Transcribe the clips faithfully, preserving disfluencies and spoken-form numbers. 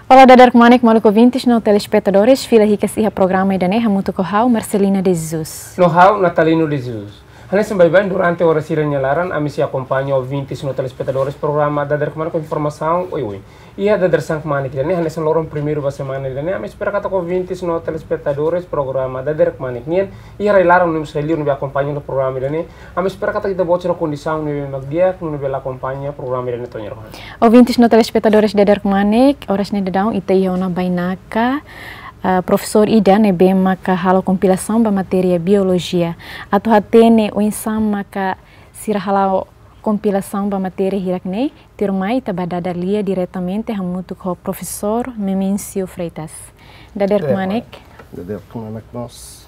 Olá, dader kmanek, maluk ouvintes no telespetadores, fila hikas iha programa ida-ne'e hamutuk ho ha'u, Marcelina de Jesus. No ha'u, Natalino de Jesus. Hanesan baibain durante oras sira-nia laran, ami sei akompaña ouvintes no telespetadores programa Dader Kmanek ho informasaun oioin. Iha dadeer-saan kmanek ida-ne'e, hanesan loron primeiru ba semana ida-ne'e, ami espera katak ouvintes no telespetadores programa Dader Kmanek nian, iha rai-laran no mós rai-liur ne'ebé akompaña hela programa ida-ne'e, ami espera katak ita-boot sira kondisaun ne'ebé mak di'ak, nune'e bele akompaña programa ida-ne'e to'o ohin. Ouvintes no telespetadores dadeer kmanek, oras ne'e daudaun ita iha ona bainaka, ah, profesór ida ne'ebé maka halo kompilasaun ba matéria biolojia. Atu hatene oinsá maka sira halo kompilasaun ba matéria hirak-ne'e, tuirmai ita bá dada lia diretamente hamutuk ho profesór Memêncio Freitas. Dadeer kmanek. Dadeer kmanek mós.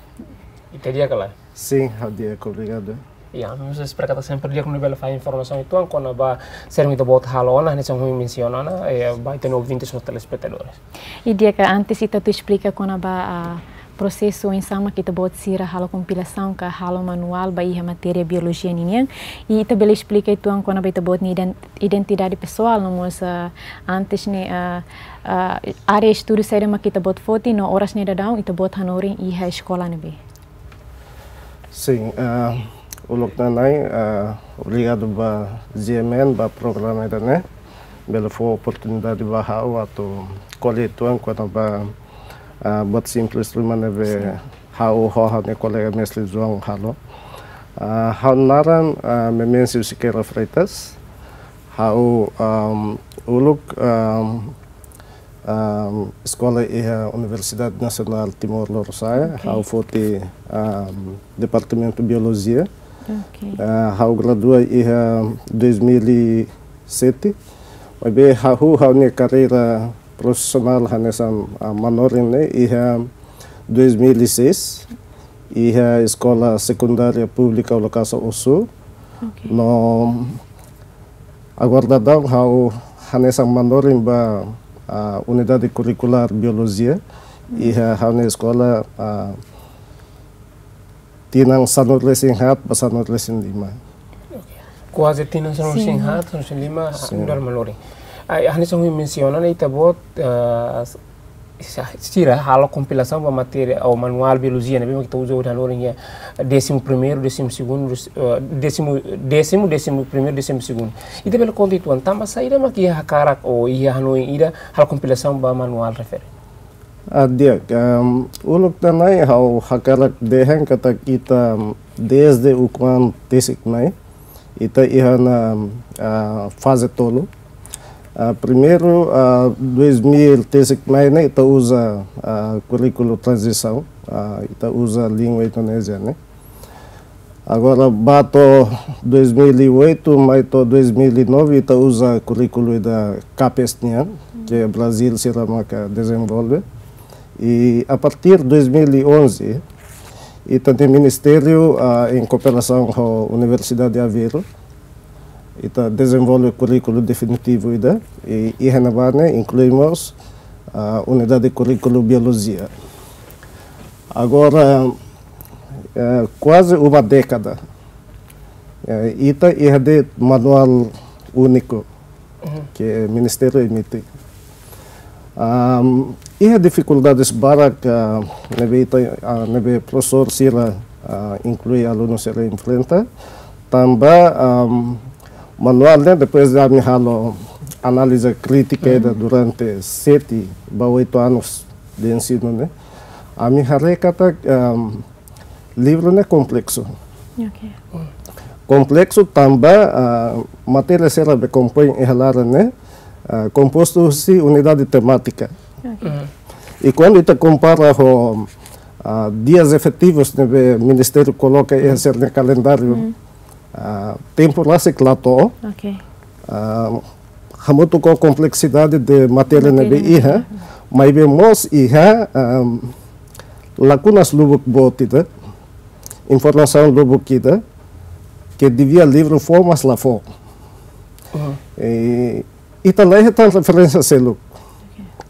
Ita di'ak ka lae? Sin, ha'u di'ak, obrigadu. Ya, ami mós espera katak sempre di'ak nune'e bele fahe informasaun uitoan kona-ba saida mak ita-boot halo ona, hanesan ohin mensiona ona, eh, ba ita-nia ouvintes no telespetadores. I di'ak, antes ita atu esplika kona-ba, ah, prosesu oinsá mak ita-boot sira halo kompilasaun ka halo manuál ba iha matéria biolojia ninian. I ita bele esplika uitoan kona-ba ita-boot nia iden-, identidade pesoál no mós, ah, antes ne'e, ah, ah, área estudu saida mak ita-boot foti no oras ne'e daudaun ita-boot hanorin iha eskola ne'ebé. Sin, ah, uluk nanain, ah, obrigadu ba G M N, ba programa ida-ne'e, bele fó oportunidade ba ha'u atu ko'alia uitoan kona-ba, ah, buat simples ruma ne'ebé ha'u ho ha'u-nia kolega mestre João halo. Ah, ha'u-nia naran, ah, Memêncio Sequeira Freitas. Ha'u, ahm, uluk, ahm, ahm, eskola iha Universidade Nasionál Timor Lorosa'e, ha'u foti, ahm, Departamentu Biolojia. Ah, ha'u gradua iha dois mil e sete. Maibé ha'u, ha'u-nia karreira profisionál hanesan, ah, manorin ne'e iha dois mil e seis, iha Eskola Sekundária Públika Ulokasa Osu. No agora daudaun ha'u hanesan manorin ba, ah, Unidade Kurrikulár Biolojia. Iha ha'u-nia eskola, ah, tinan sanulu-resin-haat ba sanulu-resin-lima. Kuaze tinan sanulu-resin-haat, sanulu-resin-lima, nu'udar manorin. Ai, hanesan ohin mensiona ona, ita-boot, ah, sa-, sira halo kompilasaun ba matéria ou manuál biolojia ne'ebé mak ita uza hodi hanorin iha décimo primeiro, décimo segundo, eh, décimo, décimo, décimo primeiro, décimo segundo. Ita bele konta uitoan, tanba saida mak iha hakarak ou iha hanoin ida halo kompilasaun ba manuál refere? Ah, di'ak, ahm, uluk nanain ha'u hakarak dehan katak ita, ahm, dezde ukun-an tesik mai, ita iha ona, ah, faze tolu. Ah, primeiru, ah, dois mil tesik mai ne'e ita uza, ah, kurríkulu tranzisaun, ah, ita uza língua Indonézia ne'e. Agora, ba to'o dois mil e oito, mai to'o dois mil e nove, ita uza kurríkulu ida CAPES nian, ke Brazil sira maka dezenvolve. I a partir dois mil e onze, ita-nia ministériu, ah, em cooperação ho Universidade de Aveiro, ita dezenvolve kurríkulu definitivu ida, i, i iha ne'ebá ne'e inklui mós, ah, unidade kurríkulu biolojia. Agora, eh, kuaze uma dékada, eh, ita iha de'it manuál úniku ke ministériu emite. Ahm, iha difikuldades barak, ah, ne'ebé ita, ah, ne'ebé profesór sira, ah, inklui alunu sira enfrenta. Tanba, ahm, manuál ne'e, depois de ami halo análize krítika ida durante sete ba oito anos de ensino ne'e, ami haree katak, ahm, livru ne'e kompleksu. Kompleksu tanba, ah, matéria sira be kompoin iha laran ne'e, ah, kompostu husi unidade temátika. I kuandu ita kompara ho, ah, dias efetivus ne'ebé ministériu koloka iha sira-nia kalendáriu, ah, tempu rasik la to'o. Ah, hamutuk ho kompleksidade de matéria ne'ebé iha, maibé mós iha, ahm, lakunas lubuk boot ida, informasaun lubuk ida, ke devia livru fó, mas la fó. I ita la hetan referénsia seluk.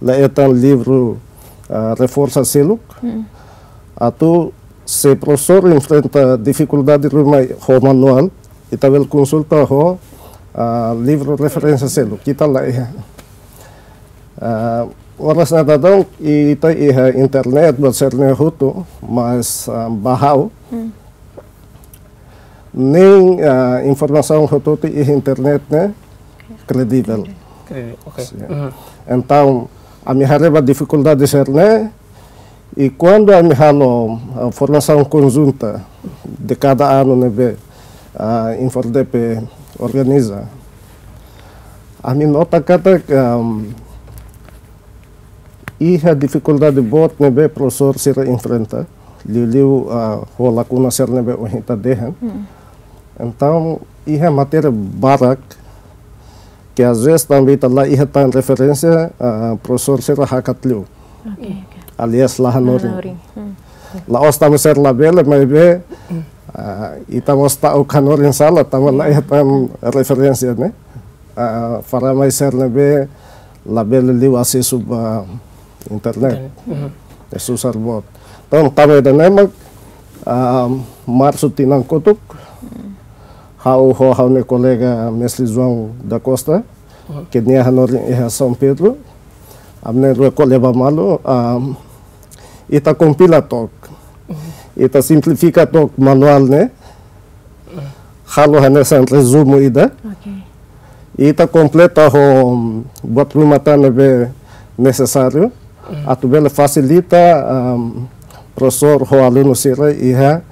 La hetan livru, ah, reforsa seluk. Atu se profesór enfrenta difikuldade ruma ho manuál, ita bele konsulta ho, ah, livru referénsia seluk, ita la iha. Ah, Oras ne'e daudaun ita iha internet, buat sira-ne'e hotu, mas, ah, ba ha'u, Hmm. nein, ah, informasaun hotu-hotu iha internet ne'e kredivel. Kredivel, oke. Sin. Mhm. Entaun, ami haree ba difikuldade sira-ne'e, i kuandu ami halo, ah, formasaun konjunta de kada anu ne'ebé, ah, INFORDEPE organiza, ami nota katak, am, iha difikuldade boot ne'ebé profesór sira enfrenta, liuliu, ah, ho lakuna sira ne'ebé ohin ita dehan. Hmm. Entaun, iha matéria barak, ke às vezes tanba ita la iha tan referénsia, ah, profesór sira hakat liu. Oke, oke. Alias la hanorin. La hanorin. Hmm. La'ós tanba sira labele, maibé, ah, ita mós ta'uk hanorin sala, tanba la iha tan referénsia, ne'e? Ah, falamai sira ne'ebé labele liu asesu ba internet. Internet. Mhm. Ne'e susar boot. Entaun, tanba ida-ne'e mak, ah, Marsu tinan kotuk, ha'u ho ha'u-nia kolega Mestre João da Costa, Mhm. ke nia hanorin iha São Pedro, ami na'in-rua ko'alia ba malu, ah, ita kompila took, Mhm. ita simplifika took manuál ne'e, halo hanesan rezumu ida. Oke. Ita kompleta ho buat ruma tan ne'ebé nesesáriu, Mm. atu bele fasilita, am, profesór ho alunu sira iha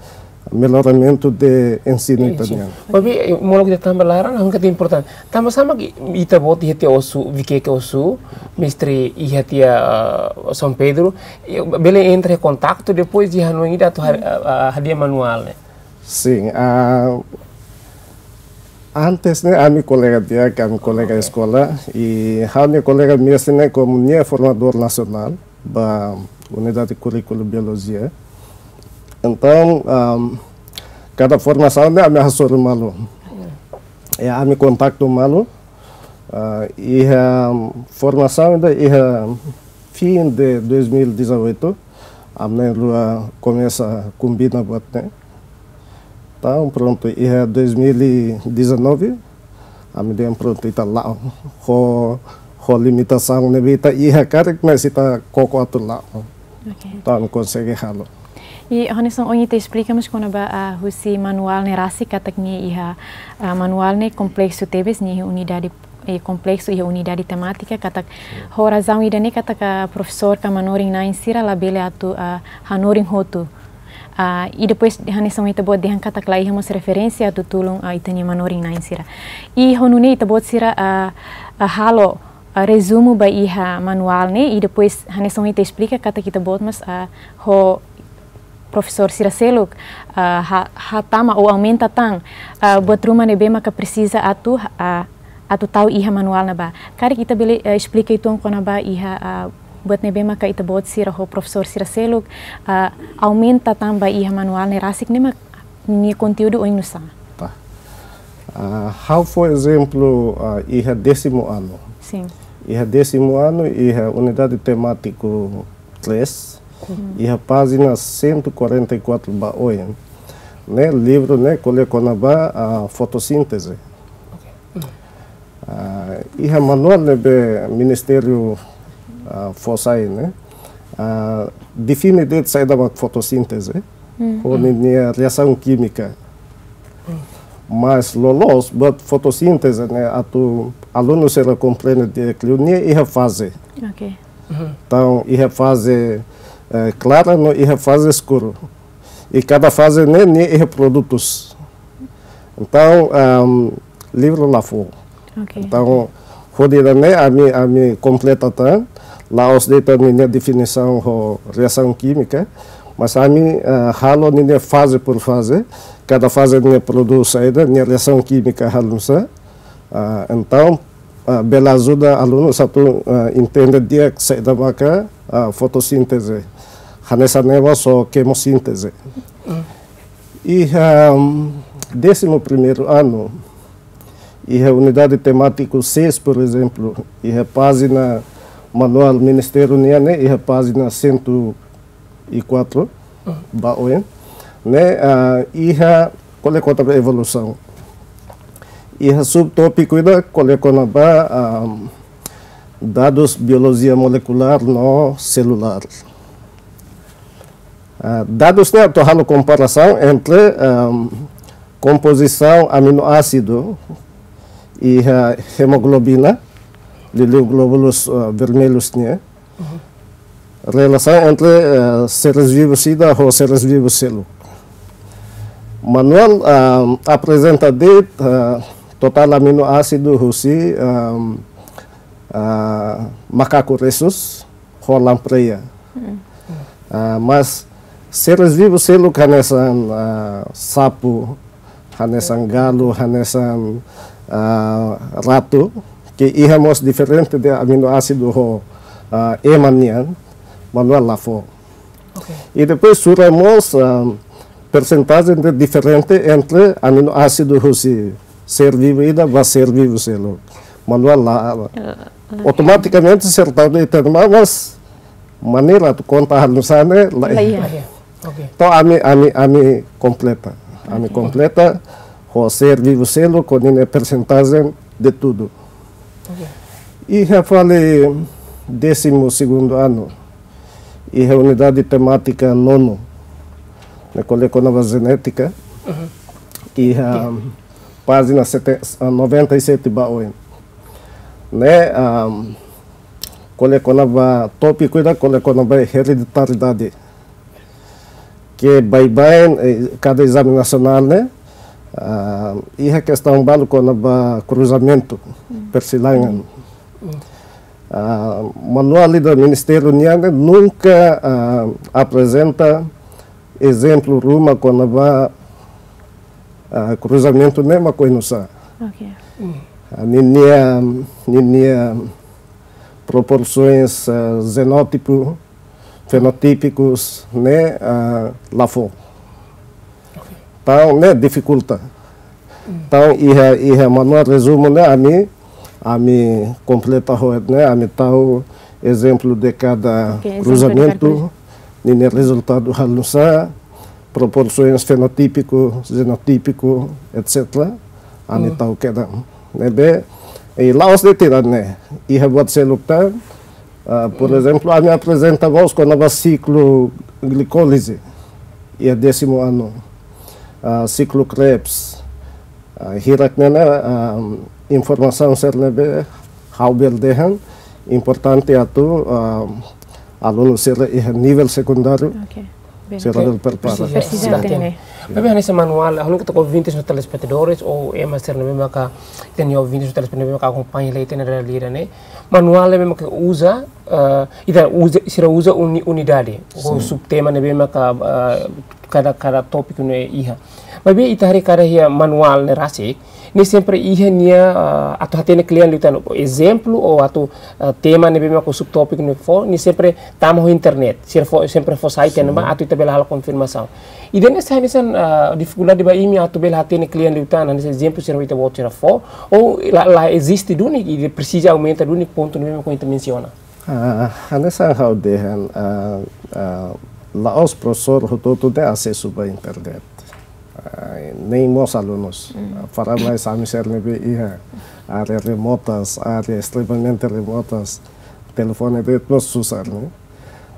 melloramentu de ensinu Ensinu. ita-nian. Maibé, eh, molok ita tanba laran, ha'u hanoin katak importante. Tanba sá mak ita-boot iha tiha Osu, Viqueque Osu, mestre iha tiha, ah, São Pedro, eh, bele entra em contacto depois de hanoin ida atu har-, ah, ah, hadi'a manuál ne'e. Sin, ah, antes ne'e ami kolega di'ak, ami kolega Oke. eskola, i ha'u-nia kolega mestre ne'e komu nia formadór nasionál ba Unidade Kurríkulu Biolojia. Entaun, am, kada formasaun ne'e ami hasoru malu. Ya. I ami kontaktu malu, ah, iha formasaun ida iha fim de dois mil e dezoito, ami na'in-rua komesa kombina buat ne'e. Entaun, prontu, iha dois mil e dezanove, ami dehan prontu ita la'o. Ho, ho limitasaun ne'ebé ita iha karik, mas ita koko atu la'o. Oke. Entaun, ami konsege halo. I hanesan ohin ita esplika mós kona-ba, ah, husi manuál ne'e rasik katak nia iha, ah, manuál ne'e kompleksu tebes, nia iha unidade, eh, kompleksu iha unidade temátika katak ho razaun ida-ne'e katak, ah, profesór ka manorin-na'in sira labele atu, ah, hanorin hotu. Ah, i depois hanesan ita-boot dehan katak la iha mós referénsia atu tulun, ah, ita-nia manorin-na'in sira. I ho nune'e ita-boot sira, ah, ah, halo, ah, rezumu ba iha manuál ne'e, i depois hanesan ita esplika katak ita-boot mós, ah, ho profesór sira seluk, ah, ha-, hatama ou aumenta tan, ah, buat ruma ne'ebé maka presiza atu, ah, atu tau iha manuál ne'ebá. Karik ita bele, eh, esplika uitoan kona-ba iha, ah, buat ne'ebé maka ita-boot sira ho profesór sira seluk, ah, aumenta tan ba iha manuál ne'e rasik ne'e mak nia konteúdu oinsá? Tá. Ah, ha'u fó ezemplu, ah, iha décimo ano. Sin. Iha décimo ano, iha unidade temátiku três, Mm. iha pájina cento e quarenta e quatro ba oin, ne'e, livru ne'e ko'alia kona-ba, ah, fotossíntese. Ok. Mm. Ah, iha manuál ne'ebé ministériu, ah, fó sai ne'e, ah, define de'it saida mak fotossíntese, Mm. ho ninia reasaun kímika. Mm. Mas loloos buat fotossíntese ne'e atu alunu sira komprende di'ak liu, nia iha faze. Ok. Mhm. Entaun, iha faze, eh, klara no iha faze eskuru. I kada faze ne'e, nia iha produtus. Entaun, am, livru la fó. Ok. Entaun, hodi ida-ne'e ami, ami kompleta tan, la'ós de'it ninia definisaun ho reasaun kímika, mas ami, eh, halo ninia faze por faze, kada faze nia produz saida, nia reasaun kímika halo nusá. Ah, entaun, ah, bele ajuda alunu atu, ah, entende di'ak saida maka, ah, fotossíntese. Hanesan ne'e mós ho kemossíntese. Mm. Iha, mm, décimo primeiro ano, iha unidade temátiku seis, por ezemplu, iha pájina manuál ministériu nian ne'e, iha pájina cento e quatro, Mm. ba oin, ne'e, ah, iha ko'alia kona-ba evolusaun. Iha subtópiku ida ko'alia kona-ba, ah, Dadus biolojia molekulár no selulár. Ah, dadus ne'e atu halo komparasaun entre, ehm, kompozisaun aminoásidu iha hemoglobina, liuliu glóbulus, ah, vermelhus nian. Relasaun entre, eh, seres vivus ida ho seres vivus seluk. Manuál, ah, aprezenta de'it, ah, totál aminoásidu husi, ah, ah, makaku rhesus ho lampreia. Ah, mas seres vivus seluk hanesan, ah, sapu, hanesan galu, hanesan, ah, ratu, ke iha mós diferente de aminoásidu ho, ah, ema nian, manuál la fó. Oke. I depois sura mós, ah, persentajen de diferente entre aminoásidu husi ser vivu ida ba ser vivu seluk. Manuál la, ah, automatikamente sertado e terma, mas maneira atu konta halo nu'usá ne'e la iha. La iha. Oke. Entaun ami, ami, ami kompleta. Ami kompleta ho ser vivu seluk ho ninia persentajen de tudu. Oke. Iha fali décimo segundo ano, iha unidade temátika nono, ne'e ko'alia kona-ba jenétika, iha pájina sete, ah, noventa e sete ba oin. Ne'e, ah, ko'alia kona-ba tópiku ida, ko'alia kona-ba ereditariedade. Ke baibain, eh, kada ezame nasionál ne'e, ah, iha kestaun balu kona-ba kruzamentu, persilangan. Ah, manuál ida ministériu nian ne'e nunka, ah, aprezenta ezemplu ruma kona-ba, ah, kruzamentu ne'e mak oinsá. Oke. Ah, ninia, ninia proporsoens, ah, jenótipu, fenotípikus ne'e, ah, la fó. Entaun ne'e difikulta. Entaun iha, iha manuál rezumu ne'e ami, ami kompleta ho ne'e, ami tau ezemplu de kada, oke, ezemplu de kruzamentu, kada kruz- ninia rezultadu halo nu'usá, proporsoens fenotípiku, jenotípiku, et cetera. Ami tau kedan. Ne'ebé, i la'ós de'it ida-ne'e, iha buat seluk tan, ah, por ezemplu, ami aprezenta mós kona-ba siklu glikólize, iha décimo ano, ah, siklu Krebs, ah, hirak ne'e, ah, informasaun sira ne'ebé ha'u bele dehan importante atu, ah, alunu sira iha nivel sekundáriu, oke, bele sira bele prepara. Presiza, presiza hatene. Maibé hanesan manuál, ha'u hanoin katak ouvintes no telespetadores, ou ema sira ne'ebé maka, ita-nia ouvintes no telespetadores ne'ebé maka akompaña hela ita-nia realidade ne'e. Manuál ne'ebé maka uza, eh, ita uza, sira uza uni-, unidade, ou subtema ne'ebé maka, eh, kada, kada tópiku ne'e iha. Maibé ita haree katak iha manuál ne'e rasik, nia sempre iha nia, ah, atu hatene kle'an liután, ezemplu ou atu, ah, tema ne'ebé maka subtópiku ne'e fó, nia sempre tama ho internet. Sira fó, sempre fó site ne'ebá atu ita bele halo konfirmasaun. Ida-ne'e sai hanesan, ah, difikuldade ba imi atu bele hatene kle'an liután, hanesan ezemplu sira ita-boot sira fó, ou la, la eziste duni, i presiza aumenta duni pontu ne'ebé maka ita mensiona. Ah, hanesan ha'u dehan, ah, ah, la'ós profesór hotu-hotu ne'e asesu ba internet. Ah, nein mós alunus. Mm. Ah, para mais ami sira ne'ebé iha área remotas, área extremamente remotas, telefone de'it mós susar, ne'e.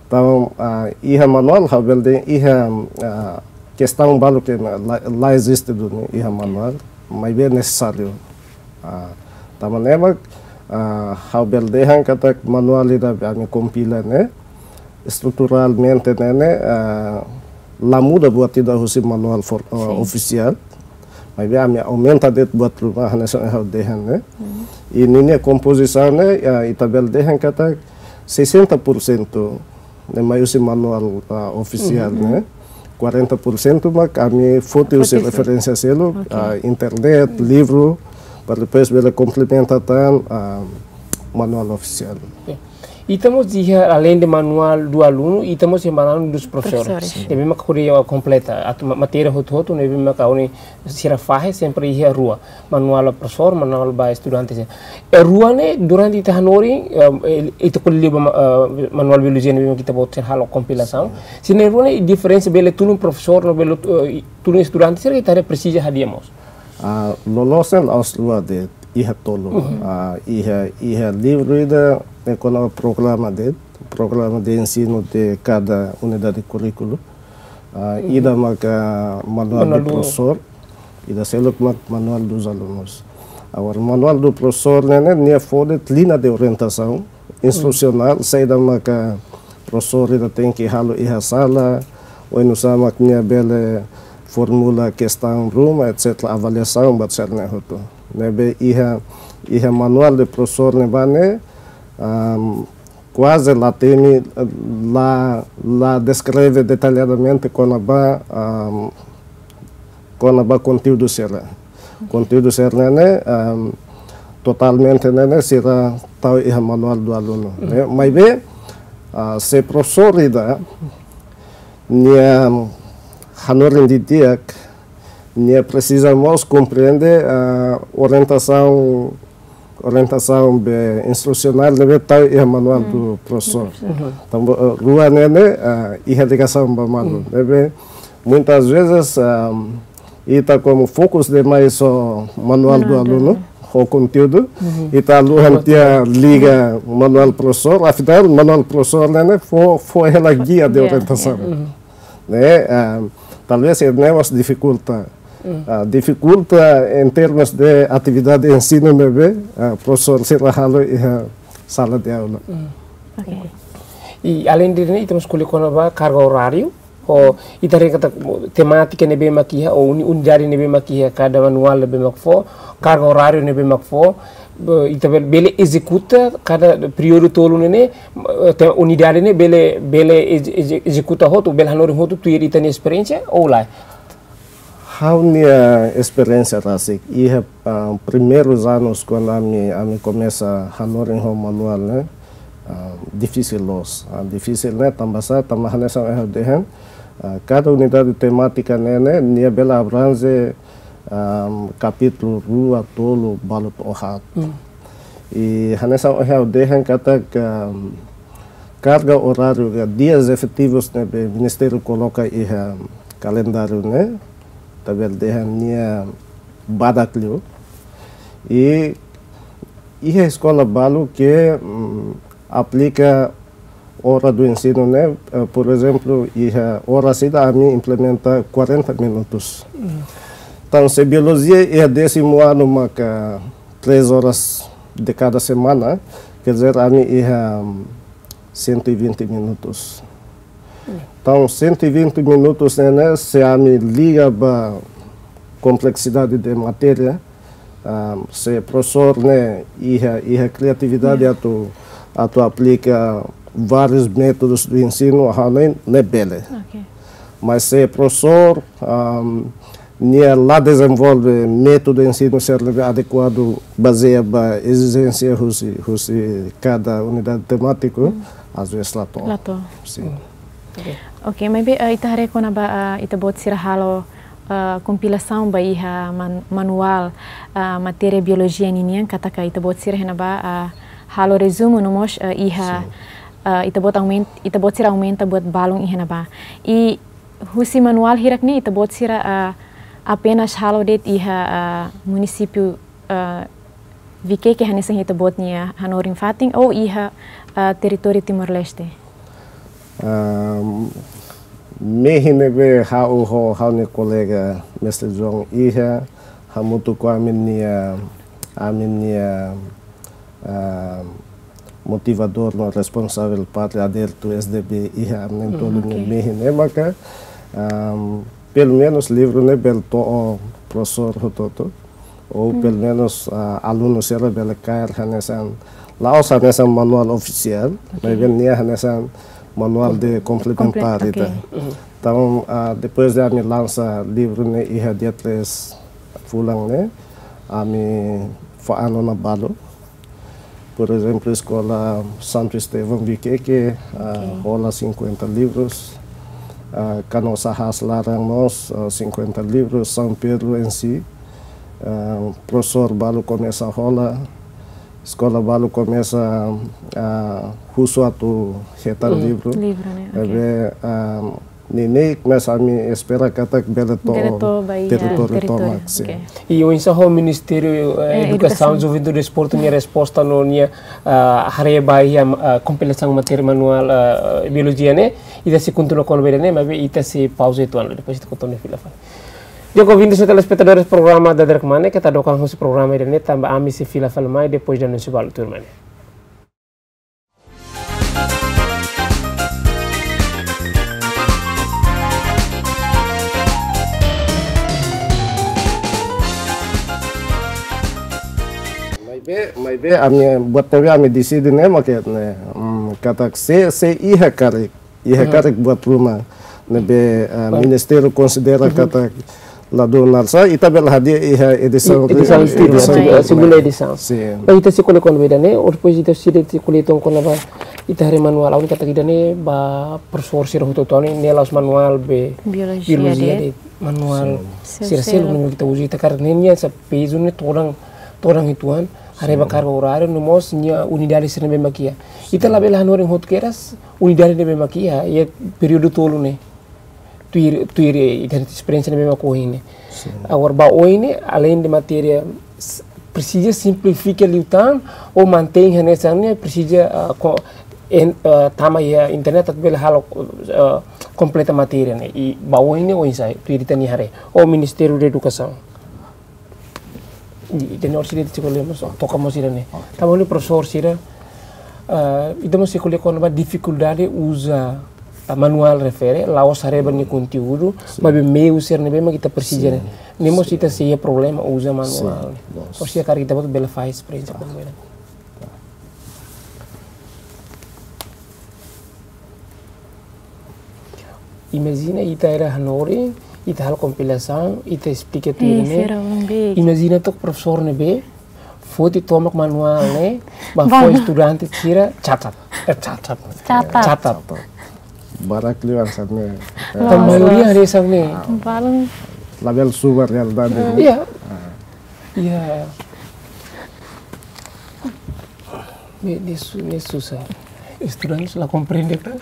Entaun, ah, iha manuál ha'u bele dehan iha, ah, kestaun balu ke la, la eziste duni iha manuál, maibé nesesáriu. Ah, tanba ne'e mak, ah, ha'u bele dehan katak manuál ida ami kompila ne'e, estruturalmente ne'e, ne'e, ah, la muda buat ida husi manuál for-, ah, ofisiál. Maibé ami aumenta de'it buat ruma hanesan ha'u dehan ne'e. I ninia kompozisaun ne'e, ah, ita bele dehan katak sessenta por cento ne'e mai husi manuál, ah, ofisiál ne'e. Quarenta por cento mak ami foti husi referénsia seluk, ah, internet, livru, para depois bele komplementa tan, ah, manuál ofisiál. Oke. Ita mós iha, além de manuál do aluno, ita mós iha manuál dos professores. Professores. Ne'ebé maka ko'alia kompleta, atu ma-, matéria hotu-hotu, ne'ebé maka ohin sira fahe sempre iha rua. Manuál ba profesór, manuál ba estudante. E rua ne'e durante ita hanorin, eh, ita ko'alia ba ma-, eh, manuál biolojia ne'ebé ita-boot sira halo kompilasaun. Sin. Sira ne'e rua ne'e diferensa bele tulun profesór no bele, eh, tulun estudante, sira ita presiza hadi'a mós. Ah, loloos ne'e la'ós rua de'it. iha tolu. Ah, iha, iha livru ida ne'e kona-ba programa de'it, programa de ensino de kada unidade kurríkulu. Ah, ida maka manual do profesór, ida seluk mak manual dos alunos. Agora, manual do profesór ne'e, ne'e nia fó de'it linha de orientasaun instrusionál, saida maka profesór ida tenke halo iha sala, oinsá mak nia bele formula kestaun ruma, et cetera, avaliasaun, buat sira-ne'e hotu. Ne'ebé iha, iha manual de profesór ne'ebá ne'e, am, kuaze la temi, la, la deskreve detalladamente kona-ba, am, kona-ba konteúdu sira. Konteúdu sira-ne'e, am, totalmente ne'e, ne'e sira tau iha manual do aluno, ne'e. Maibé, ah, se profesór ida nia hanorin didi'ak, nia presiza mós komprende, ah, orientasaun, orientasaun be instrusionál ne'ebé tau iha manual do profesór. Tanba, ah, rua ne'e, ne'e, ah, iha ligasaun ba malu. Ne'ebé muitas vezes, ah, ita komu fokus demais ho manual do aluno, ho konteúdu, ita haluha tiha liga manual profesór, afinál manual profesór ne'e, ne'e fó, fó hela guia de orientasaun. Ne'e, ah, talvez ne'e mós difikulta. Ah, difikulta em termos de atividade ensinu ne'ebé, ah, profesór sira halo iha sala de aula. Oke. I além de ne'e, ita mós ko'alia kona-ba karga oráriu, ou ita haree katak temátika ne'ebé mak iha, ou uni-, unidade ne'ebé mak iha, kada manual ne'ebé mak fó, karga oráriu ne'ebé mak fó, be-, ita bel-, bele ezekuta kada períodu tolu ne'e, eh, te-, unidade ne'e bele, bele eze-, eze-, ezekuta hotu, bele hanorin hotu tuir ita-nia esperiénsia, ou lae? Ha'u-nia esperiénsia rasik, iha, ah, primeirus anus kuandu ami, ami komesa hanorin ho manual ne'e, ah, difisil loos. Ah, difisil ne'e tanba sá, tanba hanesan ohin ha'u dehan, ah, kada unidade temátika ne'e, ne'e, nia bele abrange, ah, kapítulu rua, tolu, balu to'o haat. I hanesan ohin ha'u dehan katak, ah, karga oráriu ka dias efetivus ne'ebé Ministériu koloka iha kalendáriu ne'e, ita bele dehan nia badak liu. I iha eskola balu ke, mm, aplika ora do ensinu ne'e, eh, por ezemplu, iha oras ida ami implementa quarenta minutos. Entaun, se biolojia iha désimu anu maka três horas de cada semana, quer dizer, ami iha, mm, cento e vinte minutos. Entaun, cento e vinte minutos ne'e, ne'e, se ami liga ba kompleksidade de matéria, ah, se profesór ne'e iha, iha kriatividade atu, atu aplika várius métodus do ensinu, ah, ne'e, ne'e bele. Oke. Mas se profesór, ah, nia la dezenvolve métodu ensinu sira ne'ebé adekuadu bazeia ba ezijénsia husi, husi kada unidade temátiku, às vezes la to'o. La to'o. Sin. Oke. Oke, maibé, eh, ita haree kona-ba, eh, ita-boot sira halo, eh, kompilasaun ba iha man-, manuál, eh, matéria biolojia ninian, katak ita-boot sira iha ne'ebá, eh, halo rezumu no mós, eh, iha, eh, ita-boot aumen-, ita-boot sira aumenta buat balun iha ne'ebá. I husi manuál hirak ne'e ita-boot sira, ah, apenas halo de'it iha, ah, munisípiu, ah, Viqueque hanesan ita-boot nia hanorin fatin ou iha, ah, territóriu Timor-Leste? Ah, mehi ne'ebé ha'u ho ha'u-nia kolega Mestre João iha, hamutuk ho ami-nia, ami-nia, ah, motivadór no responsavel parte adértu S D B iha ami na'in-tolu nia mehi ne'e maka, ah, pelumenus livru ne'e bele to'o profesór hotu-hotu, ou pelumenus, ah, alunu sira bele kaer hanesan, la'ós hanesan manuál ofisiál, maibé nia hanesan manuál de komplementar ida. Entaun, ah, depois de ami lansa livru ne'e iha dia três fulan ne'e, ami fa'an ona balu. Por ezemplu, Eskola Santo Estevão Viqueque, ah, hola cinquenta livros. Ah, Canossa Haas laran mós, ah, cinquenta livros. São Pedro em si, ah, profesór balu komesa hola. Eskola balu komesa, ah, husu atu hetan livru. Livru, né? Oke. Ne'ebé, ah, Neineik, mas ami espera katak bele to'o, bele to'o ba iha teritóriu, teritóriu tomak, sin. Oke. I oinsá ho Ministériu, eh, Eh, Edukasaun, Edukasaun. Juventude no Desportu nia resposta no nia, ah, haree ba iha, ah, kompilasaun matéria manuál, ah, biolojia ne'e, ita sei kontinua kona-ba ida-ne'e, maibé ita sei pauza uitoan, depois ita kontinua fila fali. Di'ak, ouvintes no telespetadores programa Dadeer Kmanek, keta dook an husi programa ida-ne'e, tanba ami sei fila fali mai, depois de anúnsiu balu, turma ne'e. Maibé, maibé, ami, buat ne'ebé ami deside ne'e, mak ne'e, hmm, katak se, se iha karik, iha Hmm. karik buat ruma ne'ebé, eh, Baik. Ministériu konsidera Hmm. katak ladún na'sá, ita bele hadi'a iha edisaun I-, edisaun ri-, tuirmai, edisaun tuirmai. Segunda edisaun. Sin. Ba ita sei ko'alia kona-ba ida-ne'e, ou depois ita sei ko'alia uitoan kona-ba ita haree manuál, ha'u hanoin katak ida-ne'e ba profesór sira hotu-hotu ne'e, ne'e la'ós manuál be biolojia, biolojia de'it, de'it manuál Sin. sira seluk ne'ebé ita uza, ita hakarak ne'e nia sai pezu ne'e todan, todan uitoan, haree ba Sin. karga orária, no mós nia unidade sira ne'ebé mak iha. Ita Sin. labele hanorin hotu kedas unidade ne'ebé mak iha, iha períodu tolu ne'e. Tuir, tuir, eh, ita-nia esperiénsia ne'ebé mak ohin ne'e. Sin. Agora ba oin ne'e, aleinde matéria, s-, presiza simplifika liután, ou mantein hanesan ne'e, presiza, ah, ko-, en-, ah, tama iha internet, atu bele halo, ah, kompleta matéria ne'e. I ba oin ne'e, oinsá, tuir ita-nia haree. Ou Ministériu Edukasaun. I, i tenor sira ita sei ko'alia mós, toka mós sira-ne'e. Oke. Tanba ne'e profesór sira, ah, ita mós sei ko'alia kona-ba difikuldade uza, ah, manuál refere, la'ós haree ba nia konteúdu, Sin. maibé meiu sira ne'ebé mak ita presiza ne'e. Sin. Ne'e mós Sin. ita sei iha problema uza manuál. Sin. Loos. Ou seja, karik ita-boot bele fahe esperiénsia Ah. kona-ba ida-ne'e. Imajina ita iha hanorin, ita halo kompilasaun, ita esplika tuir Eh, ne'e. sira belum big. Imajina took profesór ne'ebé foti tomak manuál ne'e, ba Bang. fó estudante sira catat. Eh, catat. Catat. Catat. Barak liu hanesan ne'e. Loos, Tan maioria loos. hanesan ne'e. Balun. Labele subar realidade. Iya. Ah. Iya. Ne'e, ne'e su-, ne'e susar. Estudante la komprende, tá?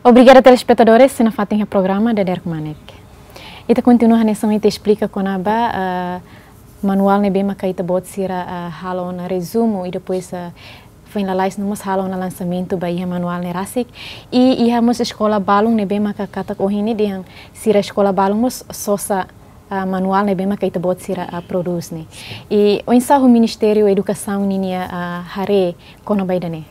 Obrigada, telespetadores, sei nafatin iha programa Dadeer Kmanek. Ita kontinua hanesan ita esplika kona-ba, ah, manuál ne'ebé maka ita-boot sira, ah, halo ona rezumu i depois, ah, foin lalais no mós halo ona lansamentu ba iha manuál ne'e rasik. I iha mós eskola balun ne'ebé maka katak ohin ne'e dehan sira eskola balun mós sosa, ah, manuál ne'ebé maka ita-boot sira, ah, prodús ne'e. I oinsá ho Ministériu Edukasaun ninia, ah, haree kona-ba ida-ne'e?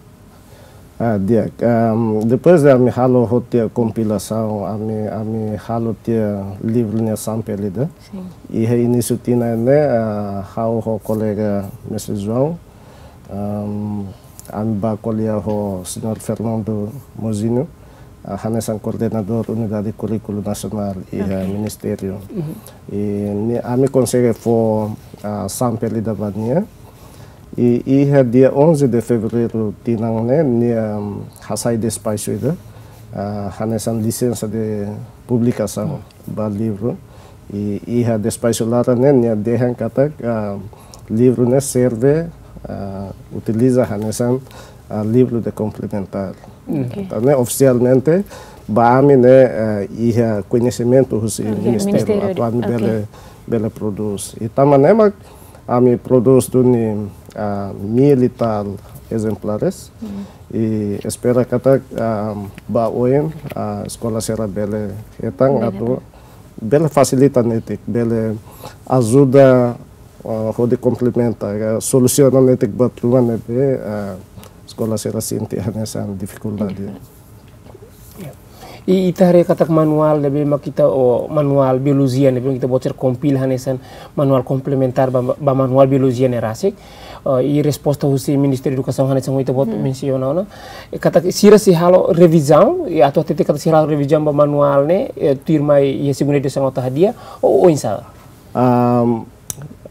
Ah, di'ak, ehm, depois de ami halo hotu tiha kompilasaun, ami, ami halo tiha livru nia sampel ida. Sin. Iha inísiu tinan ne'e, ah, ha'u ho kolega Mestre João, ehm, ami bá ko'alia ho Señór Fernando Mozinho, ah, hanesan koordenadór Unidade Kurríkulu Nasionál iha Oke. Ministériu. Mhm. I ne'e ami konsege fó, ah, sampel ida ba nia. I iha dia onze de fevereiru tinan ne'e, nia, mm, hasai despaxu ida, ah, hanesan lisensa de publikasaun Hmm. ba livru. I iha despaxu laran ne'e, nia dehan katak, ah, livru ne'e serve, ah, utiliza hanesan, ah, livru de komplementár. Hmm. Oke. Entaun ne'e ofisialmente ba ami ne'e, ah, iha koñesimentu husi Oke, ministériu, ministériu, atu ami oke. bele, bele prodús. I tanba ne'e mak ami prodús duni, ah, mil e tal ezemplares. Hmm. I espera katak, ah, ba oin, ah, eskola sira bele hetan Bele atu hetan. bele fasilita netik, bele ajuda, ah, hodi komplementa, ah, solusiona netik buat ruma ne'ebé, ah, eskola sira sente hanesan difikuldade. Difikuldade. Ya. I ita haree katak manuál ne'ebé mak ita, o manuál biolojia ne'ebé mak ita-boot sira kompila hanesan manuál komplementár ba, ba manuál biolojia ne'e rasik. Ah, i resposta husi Ministériu Edukasaun hanesan ohin ita-boot mensiona ona. I katak sira sei halo revizaun, i atu hatete katak sira halo revizaun ba manuál ne'e, eh, tuirmai iha segunda edisaun atu hadi'a, ou, ou oinsá? Ahm,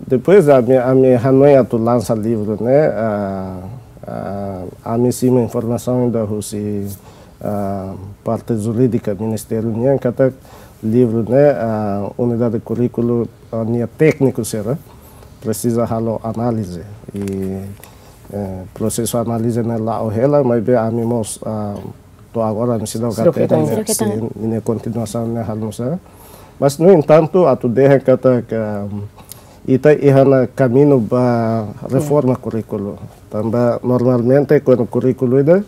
depois ami, ami hanoin atu lansa livru ne'e, ah, ah, ami simu informasaun ida husi, ah, parte jurídika ministériu nian katak livru ne'e, ah, unidade kurríkulu, ah, nia tékniku sira presiza halo análize. I, eh, prosesu análize ne'e la'o hela, maibé ami mós, ah, to'o agora ami seidauk hatene, seidauk hatene, sin, ninia kontinuasaun ne'e halo nu'usá. Mas, no entantu, atu dehan katak, ita iha ona kaminho ba reforma kurríkulu. Tanba normalmente kuandu kurríkulu ida,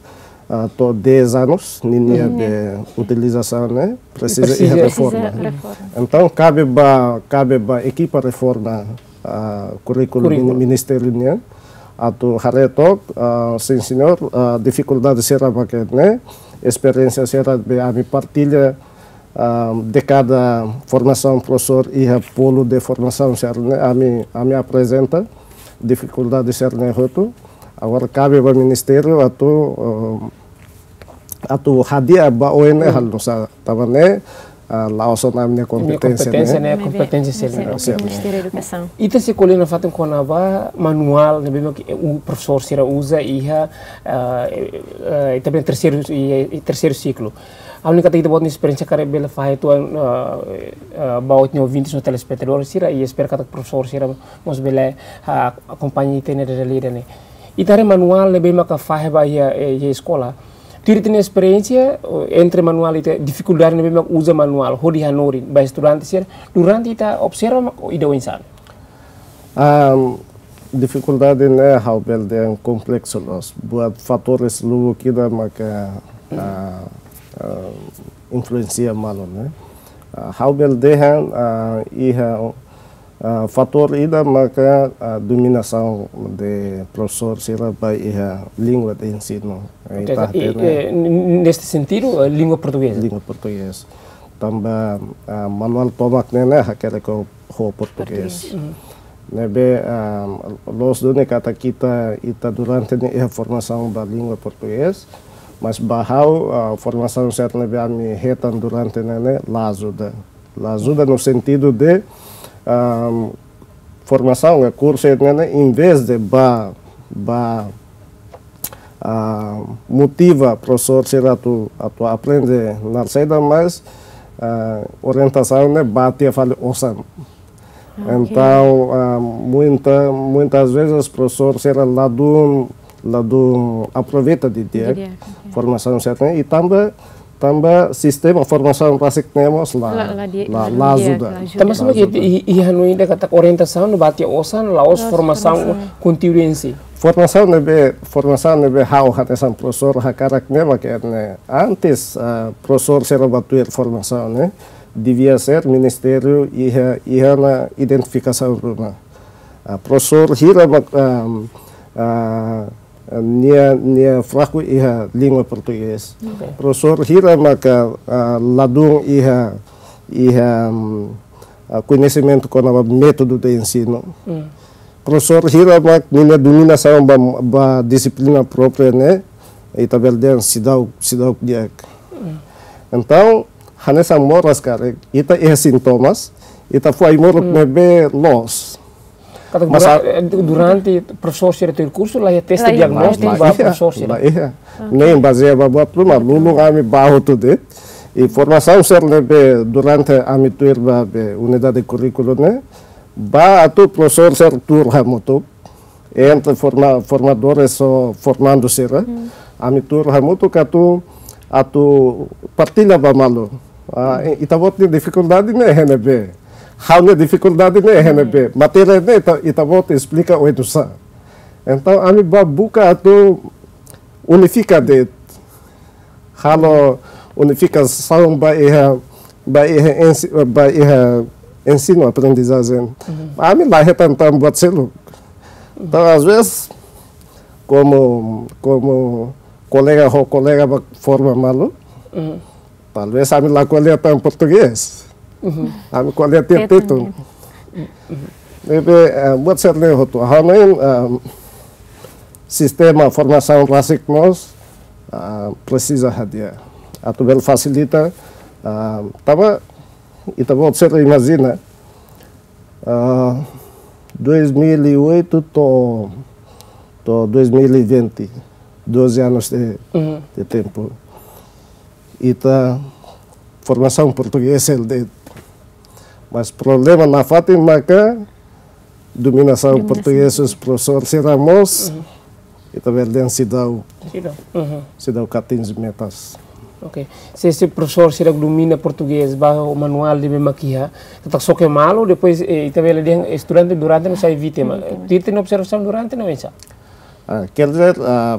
ah, to'o dez anos, ninia, mhm, be utilizasaun ne'e presiza, presiza iha reforma. Presiza reforma. Entaun, kabe ba, kabe ba ekipa reforma, ah, kurríkulu, kurríkulu, mini-, ministériu nian atu haree took, ah, sin señór, ah, difikuldade sira mak ne'e, esperiénsia sira be ami partilla, ah, dekada formasaun profesór iha polu de formasaun sira ne'e, ami, ami aprezenta difikuldade sira ne'e hotu. Agora kabe ba ministériu atu, ah, atu hadi'a ba oin ne'e, hmm, halo nu'usá, tanba ne'e, ah, la'ós ona ami-nia, ami-nia kompeténsia, kompeténsia ne'e, ne'e, maibé kompeténsia sira ne'e, sira ne'e, sira ne'e. Ministériu Edukasaun. Ita sei ko'alia nafatin kona-ba manuál ne'ebé mak, eh, profesór sira uza iha, ah, eh, eh, ita bele terseiru, i, i terseiru siklu. Ha'u hanoin katak ita-boot nia esperiénsia karik bele fahe tuan, ah, ah, ba ohin nia ouvintes no telespetadór sira, i espera katak profesór sira mós bele, ah, akompaña ita-nia realidade ne'e. Ita haree manuál ne'ebé maka fahe ba iha, eh, iha eskola. Tuir ita-nia esperiénsia, eh, entre manuál, ita difikuldade ne'ebé maka uza manuál hodi hanorin ba estudante sira, durante ita observa mak ida oinsá? Am, difikuldade ne'e ha'u bele dehan kompleksu loos. Buat fatores lubuk ida maka, ah, ah, influensia malu ne'e. Ah, ha'u bele dehan, ah, iha, ah, fatór ida maka, ah, dominasaun de profesór sira ba iha língua de ensinu. Eh, oke, ita hatene, eh, n-, n-, neste sentidu, eh, língua portugeza. Língua portugeza. Tanba, ah, manuál tomak ne'e, ne'e hakerek ho portugés. Portugés. Mhm. Ne'ebé, ah, loos duni katak ita, ita durante ne'e iha formasaun ba língua portugés, mas ba ha'u, ah, formasaun sira ne'ebé ami hetan durante ne'e, ne'e la ajuda. La ajuda no sentidu de, ah, formasaun, eh, kursu ne'e, ne'e, em vez de ba, ba, ah, motiva profesór sira atu, atu aprende naran saida, mas, ah, orientasaun ne'e ba tiha fali osan. Ah, ok. Entaun, ah, muita, muitas vezes profesór sira ladún, ladún aproveita didi'ak, didi'ak, ok, formasaun sira ne'e, i tanba, tanba sistema formasaun rasik ne'e mós la, la, la di-, la, la, la, la di'ak, ajuda, la ajuda. Tanba, la ajuda. Tanba se ita, i, i hanoin ida katak orientasaun ne'e ba tiha osan, la'ós, la'ós formasaun, formasaun, konteúdu em si. Formasaun ne'ebé, formasaun ne'ebé ha'u hanesan profesór hakarak ne'e mak ne'e. Antes, ah, profesór sira ba tuir formasaun ne'e, devia ser ministériu iha, iha ona identifikasaun ruma. Ah, profesór hira mak, ah, ah, nia, nia fraku iha língua portugés. Ok. Profesór hira maka, ah, ladún iha, iha, mm, ah, koñesimentu kona-ba métodu de ensinu. Hmm. Profesór hira mak ninia dominasaun ba, ba dixiplina própria ne'e, ita bele dehan seidauk, seidauk di'ak. Hmm. Entaun, hanesan moras karik, ita iha sintomas, ita fó ai-moruk, hmm, ne'ebé loos. Katak, mas dura-, a- eh, du-, durante profesór sira tuir kursu, la iha teste, la iha, diagnóstiku, la, la ba iha, profesór sira, la iha. Ok. Nein bazeia ba buat ruma, lulun ami ba hotu de'it. I formasaun sira ne'ebé durante ami tuir ba be unidade kurríkulu ne'e, ba atu profesór sira tuur hamutuk, entre forma-, formadores ou formandu sira, hmm, ami tuur hamutuk atu, atu partilla ba malu. Ah, i-, ita-boot nia difikuldade ne'e iha ne'ebé. Ha'u-nia difikuldade ne'e iha ne'ebé. Matéria ne'e ita, ita-boot esplika oinsá. Entaun, ami ba buka atu unifika de'it. Halo unifikasaun ba iha, ba iha ensi-, ba iha ensinu aprendizajen. Mhm. Ami la hetan tan buat seluk. Entaun, às vezes, komu, komu kolega ho kolega ba forma malu, mhm, talvés ami la ko'alia tan portugés. Mhm. Ami ko'alia tiha tetun, tetun. Ne'ebé, eh, buat sira-ne'e hotu. Ha'u hanoin, eh, Sistema formasaun rasik mós, ah, presiza hadi'a. Atu bele fasilita, ah, tanba ita-boot sira imajina, ah, dois mil e oito to'o, to'o dois mil e vinte, doze anos de, Uhum. de tempu. Ita formasaun portugés hela de'it. Mas problema nafatin maka dominasaun Dominasaun. portugés, profesór sira mós, Uhum. ita bele dehan seidauk, Seidauk. Uhum. seidauk atinje metas. Ok. Se, se profesór sira domina portugés, ba manuál ne'ebé mak iha, katak xoke malu, depois, eh, ita bele dehan estudante durante no sai vítima. Vítima. Tuir ita-nia observasaun durante no oinsá? Ah, quer dizer, ah,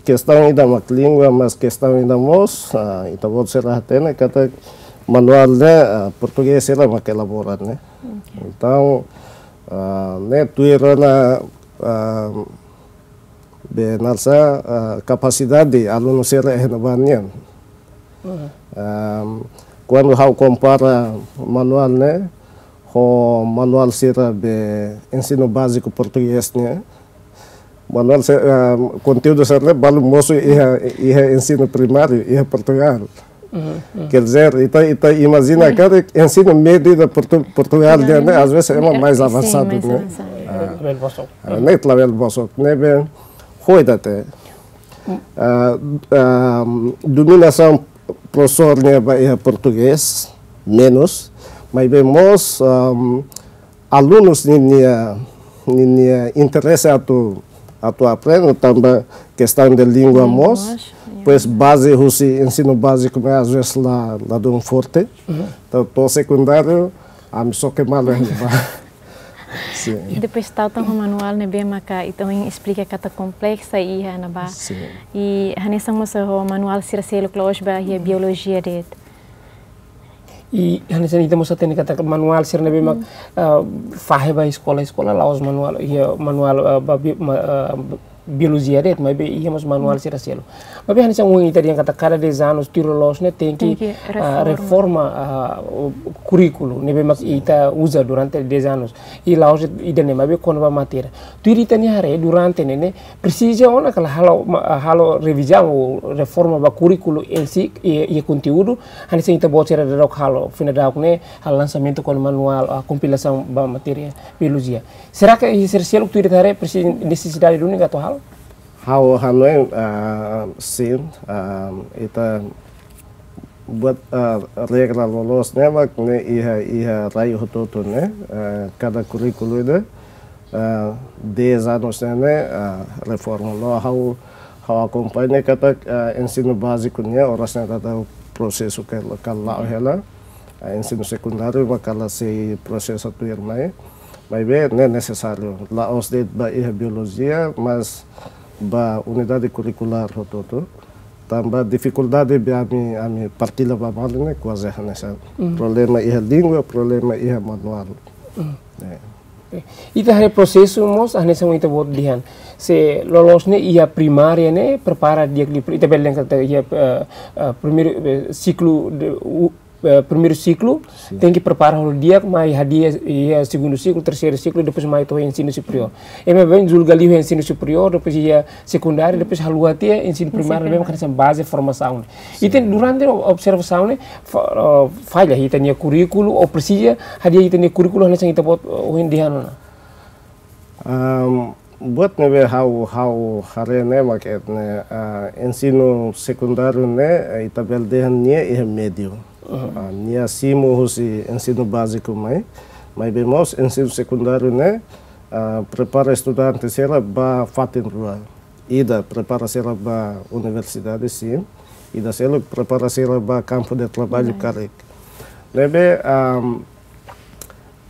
kestaun ida mak língua, mas kestaun ida mós, ah, ita-boot sira hatene katak manuál ne'e, ah, portugés sira mak elabora ne'e. Ok. Entaun, ah, ne'e tuir ona, ah, be nasa, ah, kapasidade alunu sira iha ne'ebá nian. Uhum. Ahm, kuandu ha'u kompara manuál ne'e ho manuál sira be ensinu báziku portugés nian, manuál se-, ahm, konteúdu sira ne'e balu mosu iha, iha ensinu primáriu iha Portugál. Uhum, uhum. Quer dizer, ita, ita imajina katak ensinu médiu de Portu-, Portugál nian ne'e, às vezes, ema mais Sin, avansadu, mais ne'e? avansadu. Ah. Level bosok. Ah, ne'e level bosok, ne'ebé ho ida-ne'e. Ah, ah, dominasaun profesór nian ba iha portugés menus, maibé mós, ah, alunus ninia, ninia interese atu, atu aprende, tanba kestaun de língua Língua mós, mós, ya. Pois baze husi ensinu báziku ne'e às vezes la, ladún forte. Uhum. Entaun, to'o sekundáriu, ami xoke malu iha ne'ebá. Sin. Depois tau tan ho manuál ne'ebé maka ita ohin esplika katak kompleksa iha ne'ebá. Sin. I hanesan mós ho manuál sira seluk la'ós ba iha biolojia de'it. I hanesan ita mós hatene katak manuál sira ne'ebé mak, Hmm. ah, fahe ba eskola, eskola la'ós manuál, iha manuál, ah, ba bi-, ma-, ah, biolojia de'it, maibé iha mós manuál Hmm. sira seluk. Maibé hanesan ohin ita dehan katak kada dez anos tuir loloos ne'e tenke, Tenke ah, reforma. reforma, ah, o kurríkulu ne'ebé mak Sin. ita uza durante dez anos. I la'ós ida-ne'e maibé kona-ba matéria. Tuir ita-nia haree durante ne'e, ne'e presiza ona ka lae halo ma-, halo revizaun ou reforma ba kurríkulu em si, i, i konteúdu, hanesan ita-boot sira daudauk halo, fina daudauk ne'e, halo lansamentu kona-ba manuál, ah, kompilasaun ba matéria biolojia. Será ke iha sira seluk tuir ita haree presiza nesesidade duni ka atu halo? Ha'u hanoin, ah, sin, ah, ita buat, ah, regra loloos ne'e mak ne'e iha, iha rai hotu-hotu ne'e, ah, kada kurríkulu ida, ah, dez anos ne'e, ne'e, ah, reforma. No ha'u, ha'u akompaña katak, ah, ensinu báziku ne'e oras ne'e daudaun prosesu ka, ka la'o hela, ah, ensinu sekundáriu mak la sei prosesu tuirmai. Maibé ne'e nesesáriu. La'ós de'it ba iha biolojia, mas ba unidade kurrikulár hotu-hotu. Tanba difikuldade be ami, ami partilla ba malu ne'e kuaze hanesan. Mm. Problema iha língua, problema iha manuál. Mm. É. Oke. Ita haree prosesu mós, hanesan ita-boot dehan. Se loloos ne'e iha primária ne'e, prepara di'ak liu, ita bele dehan katak iha, eh, eh, primeiru, eh, siklu de, u-, eh, primeiru siklu, Sin. tenke prepara hodi di'ak, mai hadi'a iha segundu siklu, terseiru siklu, depois mai to'o ensinu superiór. Ema bele julga liu ensinu superiór, depois iha sekundáriu, depois haluha tiha ensinu Ensinu primáriu, ne'ebé primáriu. hanesan baze formasaun. Sin. Ita durante observasaun ne'e, fa-, eh, falla ita-nia kurríkulu, ou presiza hadi'a ita-nia kurríkulu, hanesan ita-boot, eh, ohin dehan ona. Am, buat ne'ebé ha'u, ha'u haree ne'e mak ne'e, ah, ensinu sekundáriu ne'e, eh, ita bele dehan nia iha médiu. Uhum. Ah, nia simu husi ensinu báziku mai, maibé mós ensinu sekundáriu ne'e, ah, prepara estudante sira ba fatin rua. Ida prepara sira ba universidade, sin. Ida seluk prepara sira ba kampu de traballu Traballu. karik. Ne'ebé, am,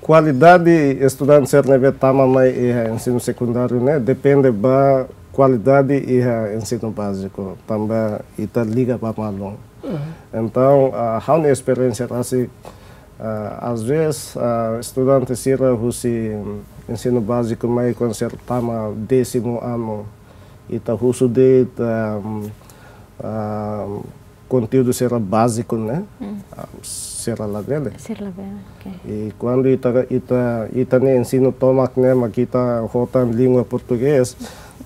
kualidade estudante sira ne'ebé tama mai iha ensinu sekundáriu ne'e depende ba kualidade iha ensinu báziku, tanba ita liga ba malu. Uhum. Entaun, ah, ha'u-nia esperiénsia rasik, ah, às vezes, ah, estudante sira husi ensinu báziku mai kuandu sira tama désimu anu, ita husu de'it, ah, ah, konteúdu sira báziku ne'e, Hmm. ah, sira labele. Sira labele, oke. I kuandu ita, ita, ita-nia ensinu tomak ne'e mak ita ho tan língua portugés,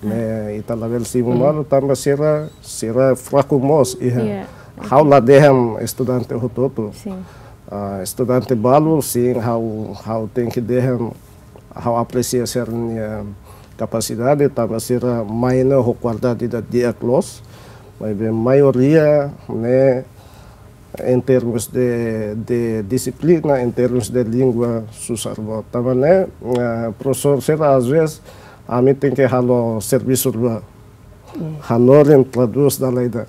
Ne'e ita labele simu malu tanba sira, sira fraku mós iha. Iya. Ha'u la dehan estudante hotu-hotu. Sin. Ah, estudante balu, sin, ha'u, ha'u tenke dehan, ha'u apresia sira-nia kapasidade, tanba sira mai ne'e ho kualidade ida di'ak loos, maibé maioria ne'e, em termos de, de dixiplina, em termos de língua, susar boot. Tanba ne'e, eh, profesór sira, às vezes, ami tenke halo servisu rua. Hanorin, tradús dala ida.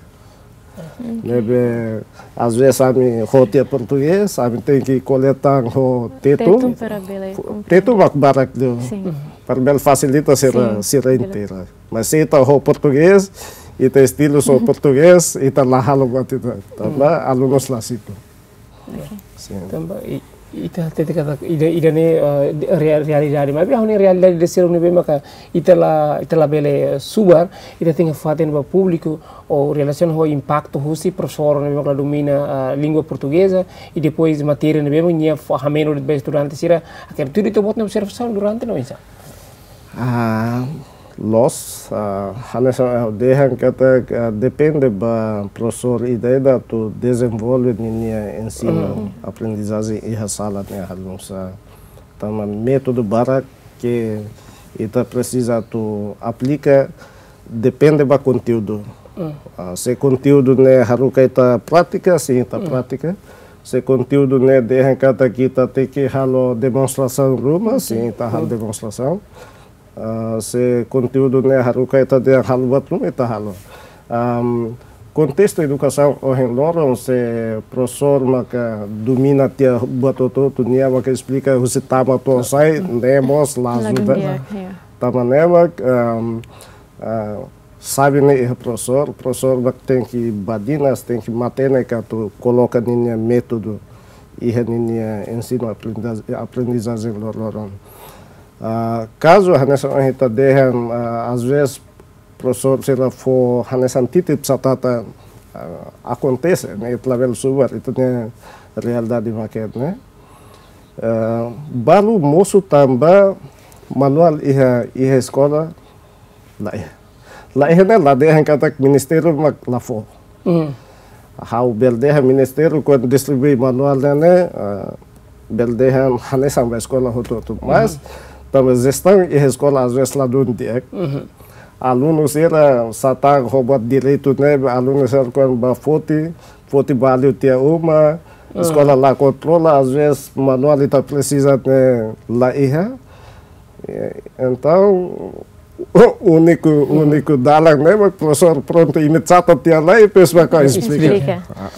Ne'ebé, às vezes, ami ho tiha portugés, ami tenke ko'alia tan ho Tetun. Tetun para bele komprende. Tetun mak barak liu. Sin. Para bele fasilita sira, sin, sira bele inteira. Mas se ita ho portugés, ita estilu só portugés, ita la halo buat ida. Tanba alunus la simu. Oke. Sin. Tanba i-, ita hatete katak ida, ida-ne'e, eh, di-, rea-, realidade. Maibé ha'u-nia realidade ida seluk ne'ebé maka ita la, ita labele subar, ita tenke fatin ba públiku, ou relasiona ho impaktu husi profesór ne'ebé maka la domina, ah, língua portugeza, i depois matéria ne'ebé maka nia fó hameno ba estudante sira, hakerek tuir ita-boot nia observasaun durante ne'e oinsá? Ah, loos, ah, hanesan ha'u dehan katak, ah, depende ba profesór ida-idak atu dezenvolve ninia ensinu, aprendizajen iha sala ne'e halo nu'usá. Tanba métodu barak ke ita presiza atu aplika depende ba konteúdu. Ah, se konteúdu ne'e haruka ita prátika, sin ita prátika. Se konteúdu ne'e dehan katak ita tenke halo demonstrasaun ruma, sin ita halo demonstrasaun. Ah, se konteúdu ne'e haruka ita dehan halo buat ruma, ita halo. Am, kontestu edukasaun ohin loron, se profesór maka domina tiha buat hotu-hotu, nia maka esplika husi tama to'o sai, ne'e mós la ajuda. La ajuda, ya. Tanba ne'e mak, am, ah, xave ne'e iha profesór, profesór mak tenke badinas, tenke matenek atu koloka ninia métodu iha ninia ensinu aprendizaj-, aprendizajen loroloron. Ah, kazu hanesan ohin ita dehan, ah, às vezes profesór sira fó hanesan titip satata, ah, akontese, ne'e ita labele subar, ita-nia realidade mak ne'e. Ah, balu mosu tanba manuál iha, iha eskola, la iha. La iha ne'e la dehan katak ministériu mak la fó. Ha'u bele dehan ministériu kuandu distribui manuál ne'e, eh, bele dehan hanesan ba eskola hotu-hotu. Mas, tanba jestaun iha eskola às vezes ladún di'ak. Alunu sira sá tan ho buat direitu ne'e, alunu sira kuandu bá foti, foti ba liu tiha uma, eskola la kontrola, às vezes manuál ita presiza ne'e la iha. Eh, entaun, úniku, úniku dalan ne'e mak profesór prontu imi catat tiha lai, depois mak esplika. Esplika. Ah, ah.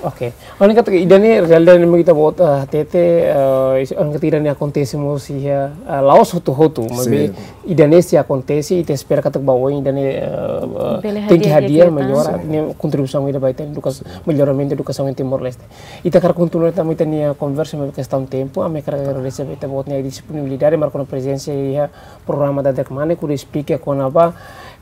Oke. Ohin katak ida-ne'e realidade ne'e mak ita-boot, eh, hatete, eh, ohin katak ida-ne'e akontese mós iha, eh, la'ós hotu-hotu, maibé ida-ne'e sei akontese, ita espera katak ba oin ida-ne'e, eh, eh, tenke hadi'a, hadi'a, hadi'a, melhora, ne'e kontribuisaun ida ba ita edukasaun, melhoramentu edukasaun iha Timor-Leste. Ita hakarak kontinua tan ita-nia konversa, maibé kestaun tempu, ami hakarak agradese ba ita-boot nia disponibilidade, marka ona prezensa iha programa Daderek Manek, hodi esplika kona-ba,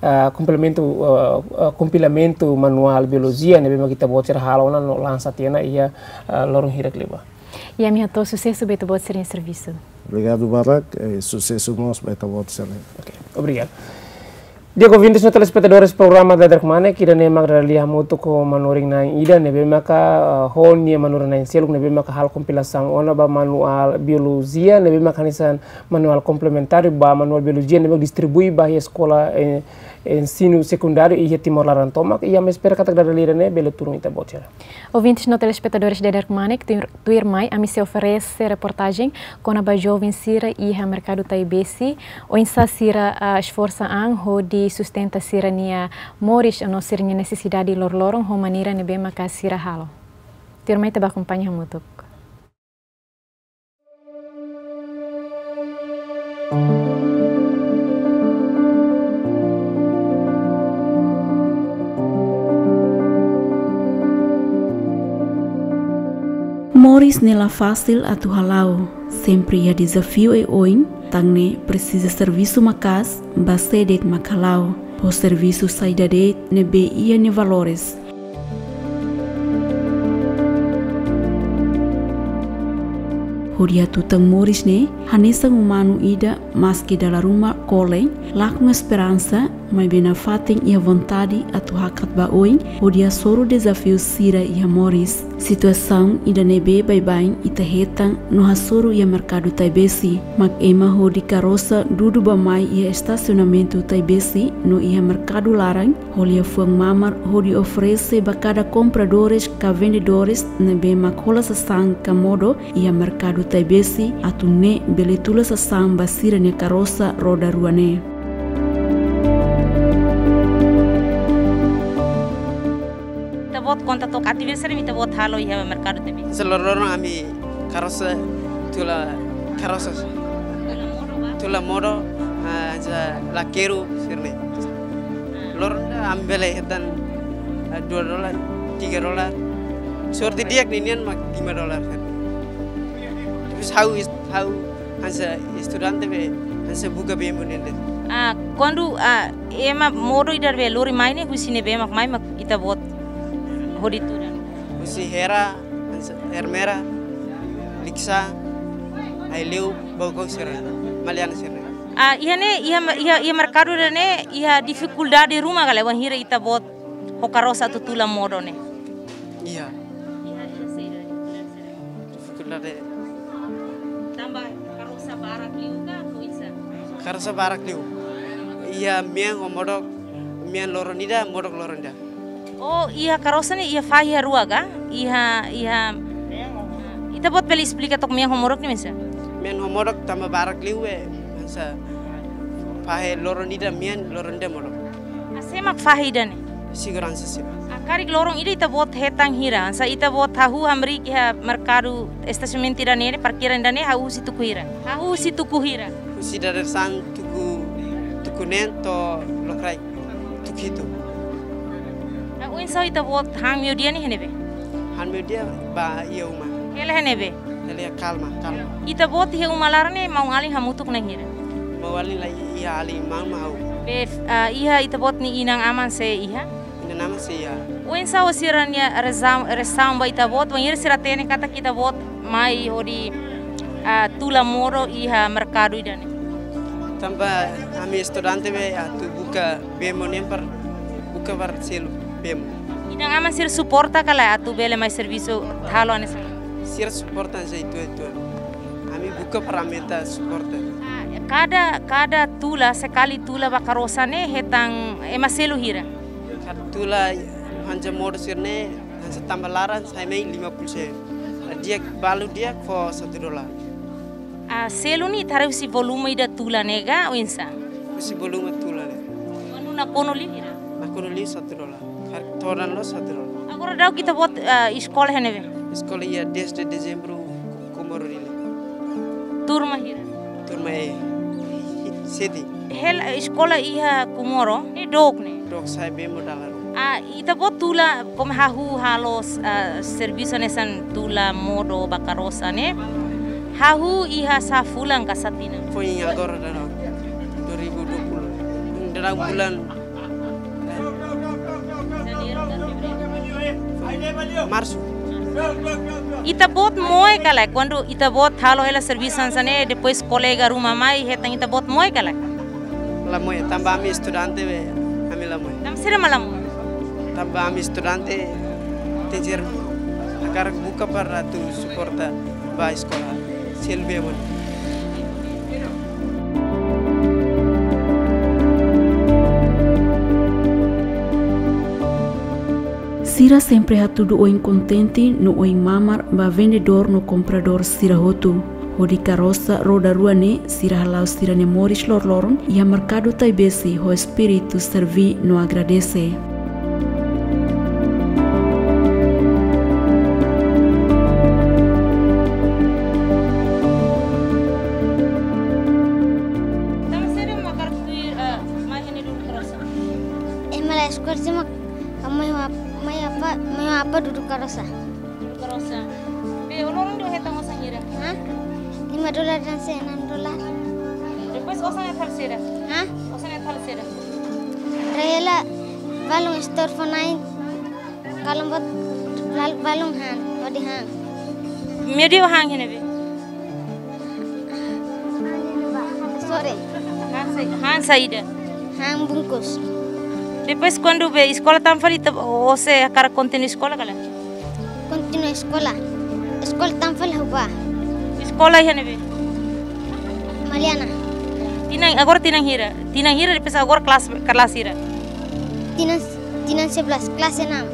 ah, komplementu, ah, ah, kompilamentu manuál biolojia ne'ebé mak ita-boot sira halo ona no lansa tiha ona iha, ah, loron hirak liubá. I ami hato'o susesu ba ita-boot sira-nia servisu. Obrigadu barak, eh, susesu mós ba ita-boot sira. Oke, obrigadu. Di'ak, ouvintes no telespetadores programa Daderek Manek, ida-ne'e mak dada lia hamutuk ho manorin na'in ida ne'ebé maka, ah, ho nia manorin na'in seluk ne'ebé maka halo kompilasaun ona ba manuál biolojia ne'ebé maka hanesan manuál komplementár ba manuál biolojia ne'ebé distribui ba iha eskola, eh, ensinu sekundáriu iha Timor laran tomak, i ami espera katak dada lia ne'e bele tulun ita-boot sira. Ouvintes no telespetadores Daderek Manek, tuir, tuirmai ami sei oferese reportajen kona-ba joven sira iha merkadu Taibesi, oinsá sira, ah, esforsa an hodi sustenta sira-nia moris no sira-nia nesesidade loroloron ho maneira ne'ebé maka sira halo. Tuirmai ita bá akompaña hamutuk. Moris ne'e la fasil atu hala'o, sempre iha dezafiu oioin, tan ne'e presiza servisu maka'as ba sé de'it mak hala'o, ho servisu saida de'it ne'ebé iha nia valores. Hodi hatutan moris ne'e, hanesan umanu ida maski dala ruma kolen, lakon esperansa, maibé nafatin iha vontade atu hakat ba oin, hodi hasoru dezafiu sira iha moris. Situasaun ida ne'ebé baibain ita hetan no hasoru iha merkadu Taibesi, mak ema hodi karosa dudu bá-mai iha estasionamentu Taibesi no iha merkadu laran, ho liafuan mamar hodi oferese ba kada kompradores ka vendedores ne'ebé mak hola sasán ka modo iha merkadu Taibesi atu nune'e bele tula sasán ba sira-nia karosa roda rua ne'e. Ita-boot konta took atividade saida mak ita-boot halo iha merkadu Taibesi? Hanesan loron-loron ami karosa tula karosa. Tula modo ba? Tula modo, ah, hanesan lakeru sira-ne'e. Ah. Loron ida ami bele hetan, ah, dua dolar, tiga dolar. Sorte di'ak ninian mak lima dolar. Depois ha'u est-, ha'u hanesan estudante be, hanesan buka bee modo ne'e de'it. Ah, kuandu, ah, ema modo ida be lori mai ne'e, husi ne'ebé mak mai mak ita-boot hodi tuda? Husi Hera, hanesan Ermera, Likisá, Aileu, Baucau sira, Maliana sira. Ah, iha ne'e, iha ma-, iha, iha merkadu ida-ne'e, iha difikuldade ruma ka lae, wainhira ita-boot ho karosa atu tula modo ne'e? Iha. Iha, iha saida? Difikuldade. Tanba karosa barak liu ka, oinsá? Karosa barak liu. Iha mean ho modok, mean loron ida, modok loron ida. Oh, iha karosa ne'e iha fahi rua ka? Iha, iha, ita-boot bele esplika took mean ho modok ne'e oinsá? Mean ho modok tanba barak liu, eh, hanesan fahe loron ida mean, loron ida modok. Ah, sé mak fahe ida-ne'e? Seguransa sira. Ah, karik loron ida ita-boot hetan hira, hanesan ita-boot hahú hamriik iha merkadu estasionamentu ida-ne'e, parkiran ida-ne'e, hahú husi tuku hira? Hahú husi tuku hira? Husi dadeer-saan tuku, tuku neen to'o lokraik tuku hitu. Ah, oinsá ita-boot han meiudia ne'e iha ne'ebé? Han meiudia bá iha uma. Hela iha ne'ebé? Hela iha Kalma, Kalma. Ita-boot iha uma laran ne'e maun-alin hamutuk na'in hira? Maun-alin la iha, alin maun mak ha'u. Be, ah, iha ita-boot nia inan-aman sei iha? Inan-aman sei iha. Oinsá sira-nia reasaun, reasaun ba ita-boot, wainhira sira hatene katak ita-boot mai hodi, ah, tula modo iha merkadu ida-ne'e? Tanba ami estudante be atu buka bee modo ne'e para buka para selu bee modo. Inan-aman sira suporta ka lae atu bele mai servisu halo hanesan? Sira suporta hanesan uitoan-uitoan. Ami buka para aumenta suporta. Ah, kada, kada tula, sekali tula ba karosa ne'e hetan ema selu hira? Kada tula hanesan modo sira-ne'e, hanesan tanba laran sai mai lima puluh sen. Di'ak, balu di'ak fó satu dolar. Ah, selu ne'e ita haree husi volume ida tula ne'e ka, oinsá? Husi volume tula ne'e. Kuandu nakonu liu hira? Nakonu liu satu dolar. Karik todan loos satu dolar. Agora daudauk ita-boot, ah, eskola iha ne'ebé? Eskola iha dez de Dezembru, Comoro Dili. Turma hira? Turma E. Sete. Hela, eh, eskola iha Comoro ne'e dook ne'e? Dook, sai bee modo dala rua. Ah, ita-boot tula, komu hahú halo, ah, servisu hanesan tula modo ba karosa ne'e, hahú iha sá fulan ka sá tinan? Foin agora daudaun dua ribu dua puluh. Daudaun bulan Marsu. Ita-boot moe ka lae, kuandu ita-boot halo hela servisu hanesan ne'e, depois kolega ruma mai hetan, ita-boot moe ka lae? La moe, tanba ami estudante be, ami la moe. Tanba saida mak la moe? Tanba ami estudante, teacher hakarak buka para atu suporta ba eskola. Selu bee modo. Sira sempre hatudu oin kontente no oin mamar ba vendedór no kompradór sira hotu. Hodi karosa roda rua ne'e sira hala'o sira-nia moris loroloron iha merkadu Taibesi ho espíritu serví no agradese. Tanba saida mak hakarak tuir, eh, mai iha ne'e dudu karosa? Ema la eskola sira mak, mai ho ap-, mai apá, mai ho apá dudu karosa. Dudu karosa. Be, ó loron ida ó hetan osan hira? Hah? Lima dolar hanesan enam dolar. Depois osan ne'e halo saida? Hah? Osan ne'e halo saida? Rai hela balun store fó-na'in. Kalau buat bal-, balun han, hodi han. Meiudia han iha ne'ebé? Han sa-, han saida? Han bungkus. Depois kuandu be eskola tan fali ita, ó sei hakarak kontinua eskola ka lae? Kontinua eskola. Eskola tan fali ha'u bá. Eskola iha ne'ebé? Maliana. Tinan, agora tinan hira? Tinan hira depois agora kelas, kelas hira? Tinan, tinan sebelas, kelas enam.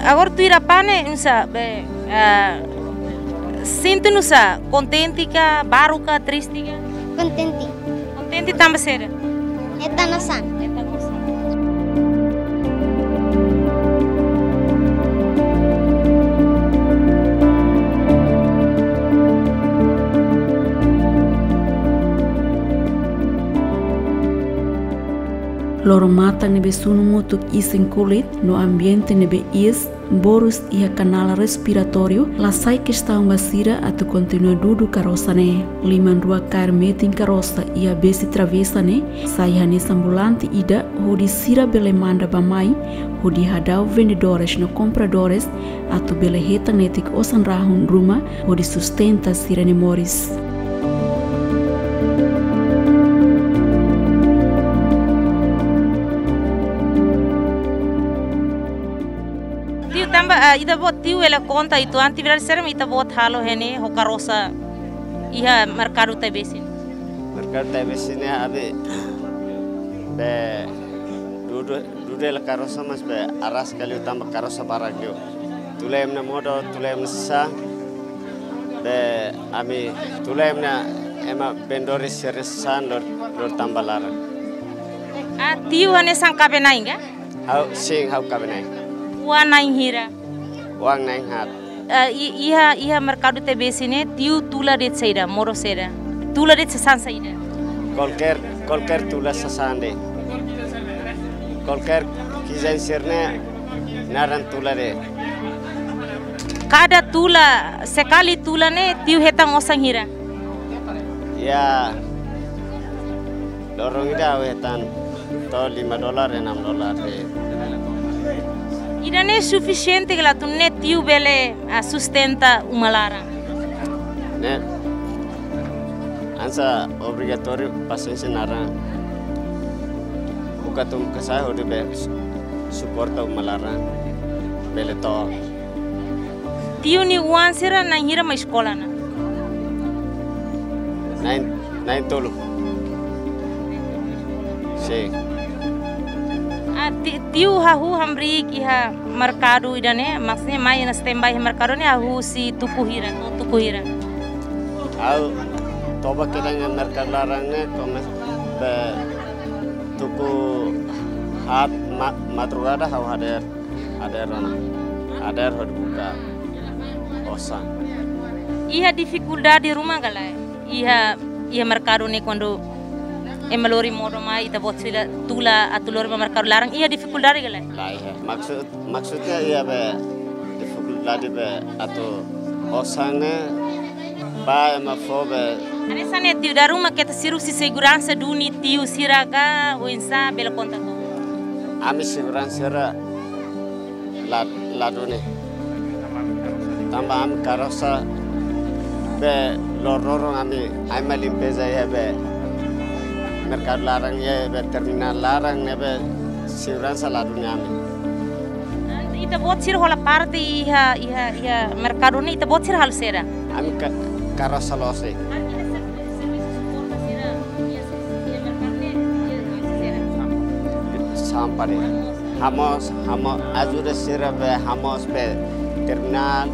Agora tuir apá ne'e, nusá, be, ah, sente nusá, kontente ka, baruk ka, triste ka? Kontente. Kontente tanba saida? Hetan osan. Hetan osan. Loron-matan ne'ebé sunu mutuk isin kulit no ambiente ne'ebé iis, borus iha kanál respiratóriu, la sai kestaun ba sira atu kontinua dudu karosa ne'e. Liman rua kaer metin karosa iha besi travesa ne'e, sai hanesan volante ida hodi sira bele manda bá-mai, hodi hadau vendedores no kompradores, atu bele hetan netik osan rahun ruma, hodi sustenta sira-nia moris. Tiu, tanba, ah, ita-boot tiu bele konta uitoan atividade saida mak ita-boot halo iha ne'e ho karosa iha merkadu Taibesi? Merkadu Taibesi ne'e ami be dudu, dudu hela karosa, mas be aras ka liu tanba karosa barak liu. Tula ema nia modo, tula ema nia sasán. Be ami tula ema nia, ema vendedores sira-nia sasán lori, lori tama ba laran. Ah, tiu hanesan kaben-na'in ka? Ha'u, sin, ha'u kaben-na'in. Oan na'in hira? Oan na'in haat. Ah, i-, iha, iha merkadu Taibesi ne'e, tiu tula de'it saida, modo saida? Tula de'it sasán saida? Kualkér, kualkér tula sasán de'it. Kualkér kizen sira-ne'e naran tula de'it. Kada tula, sekali tula ne'e, tiu hetan osan hira? Ya, loron ida ha'u hetan to'o lima dolar, enam dolar de'it. Ida-ne'e sufisiente ka lae atu nune'e tiu bele, ah, sustenta uma laran? Ne'e, hanesan obrigatóriu pasiénsia naran. Buka tun ka sa'e hodi be su-, suporta uma laran. Bele to'o. Tiu nia oan sira na'in hira mai eskola ona? Na'in, na'in tolu. Sin. Ah, ti-, tiu hahú hamriik iha merkadu ida-ne'e, maksudnya mai ona standby iha merkadu ne'e hahú husi tuku hira, to'o tuku hira? Ha'u toba kedan iha merkadu laran ne'e, komesa be tuku haat ma-, madrugada ha'u hadeer. Hadeer ona. Hadeer hodi buka osan. Iha difikuldade ruma ka lae? Iha, iha merkadu ne'e kuandu ema lori modo mai, ita-boot sira tula atu lori ba merkadu laran, iha difikuldade ka lae? Lae, iha. Maksud, maksudnya iha be difikuldade be atu osan ne'e ba ema fó be. Hanesan ne'e tiu, dala ruma keta sira husi seguransa duni tiu sira ka oinsá, bele konta to'ok? Ami seguransa sira la, la duni. Tanba ami karosa be loron-loron ami, ami limpeza iha be merkadu laran iha be terminál laran ne'ebé seguransa la duni ami. Ita-boot sira hola parte iha, iha, iha merkadu ne'e ita-boot sira halo saida? Ami ka-, karosa loos de'it. Sampah de'it. Hamoos, hamoos, ajuda sira be hamoos be terminál.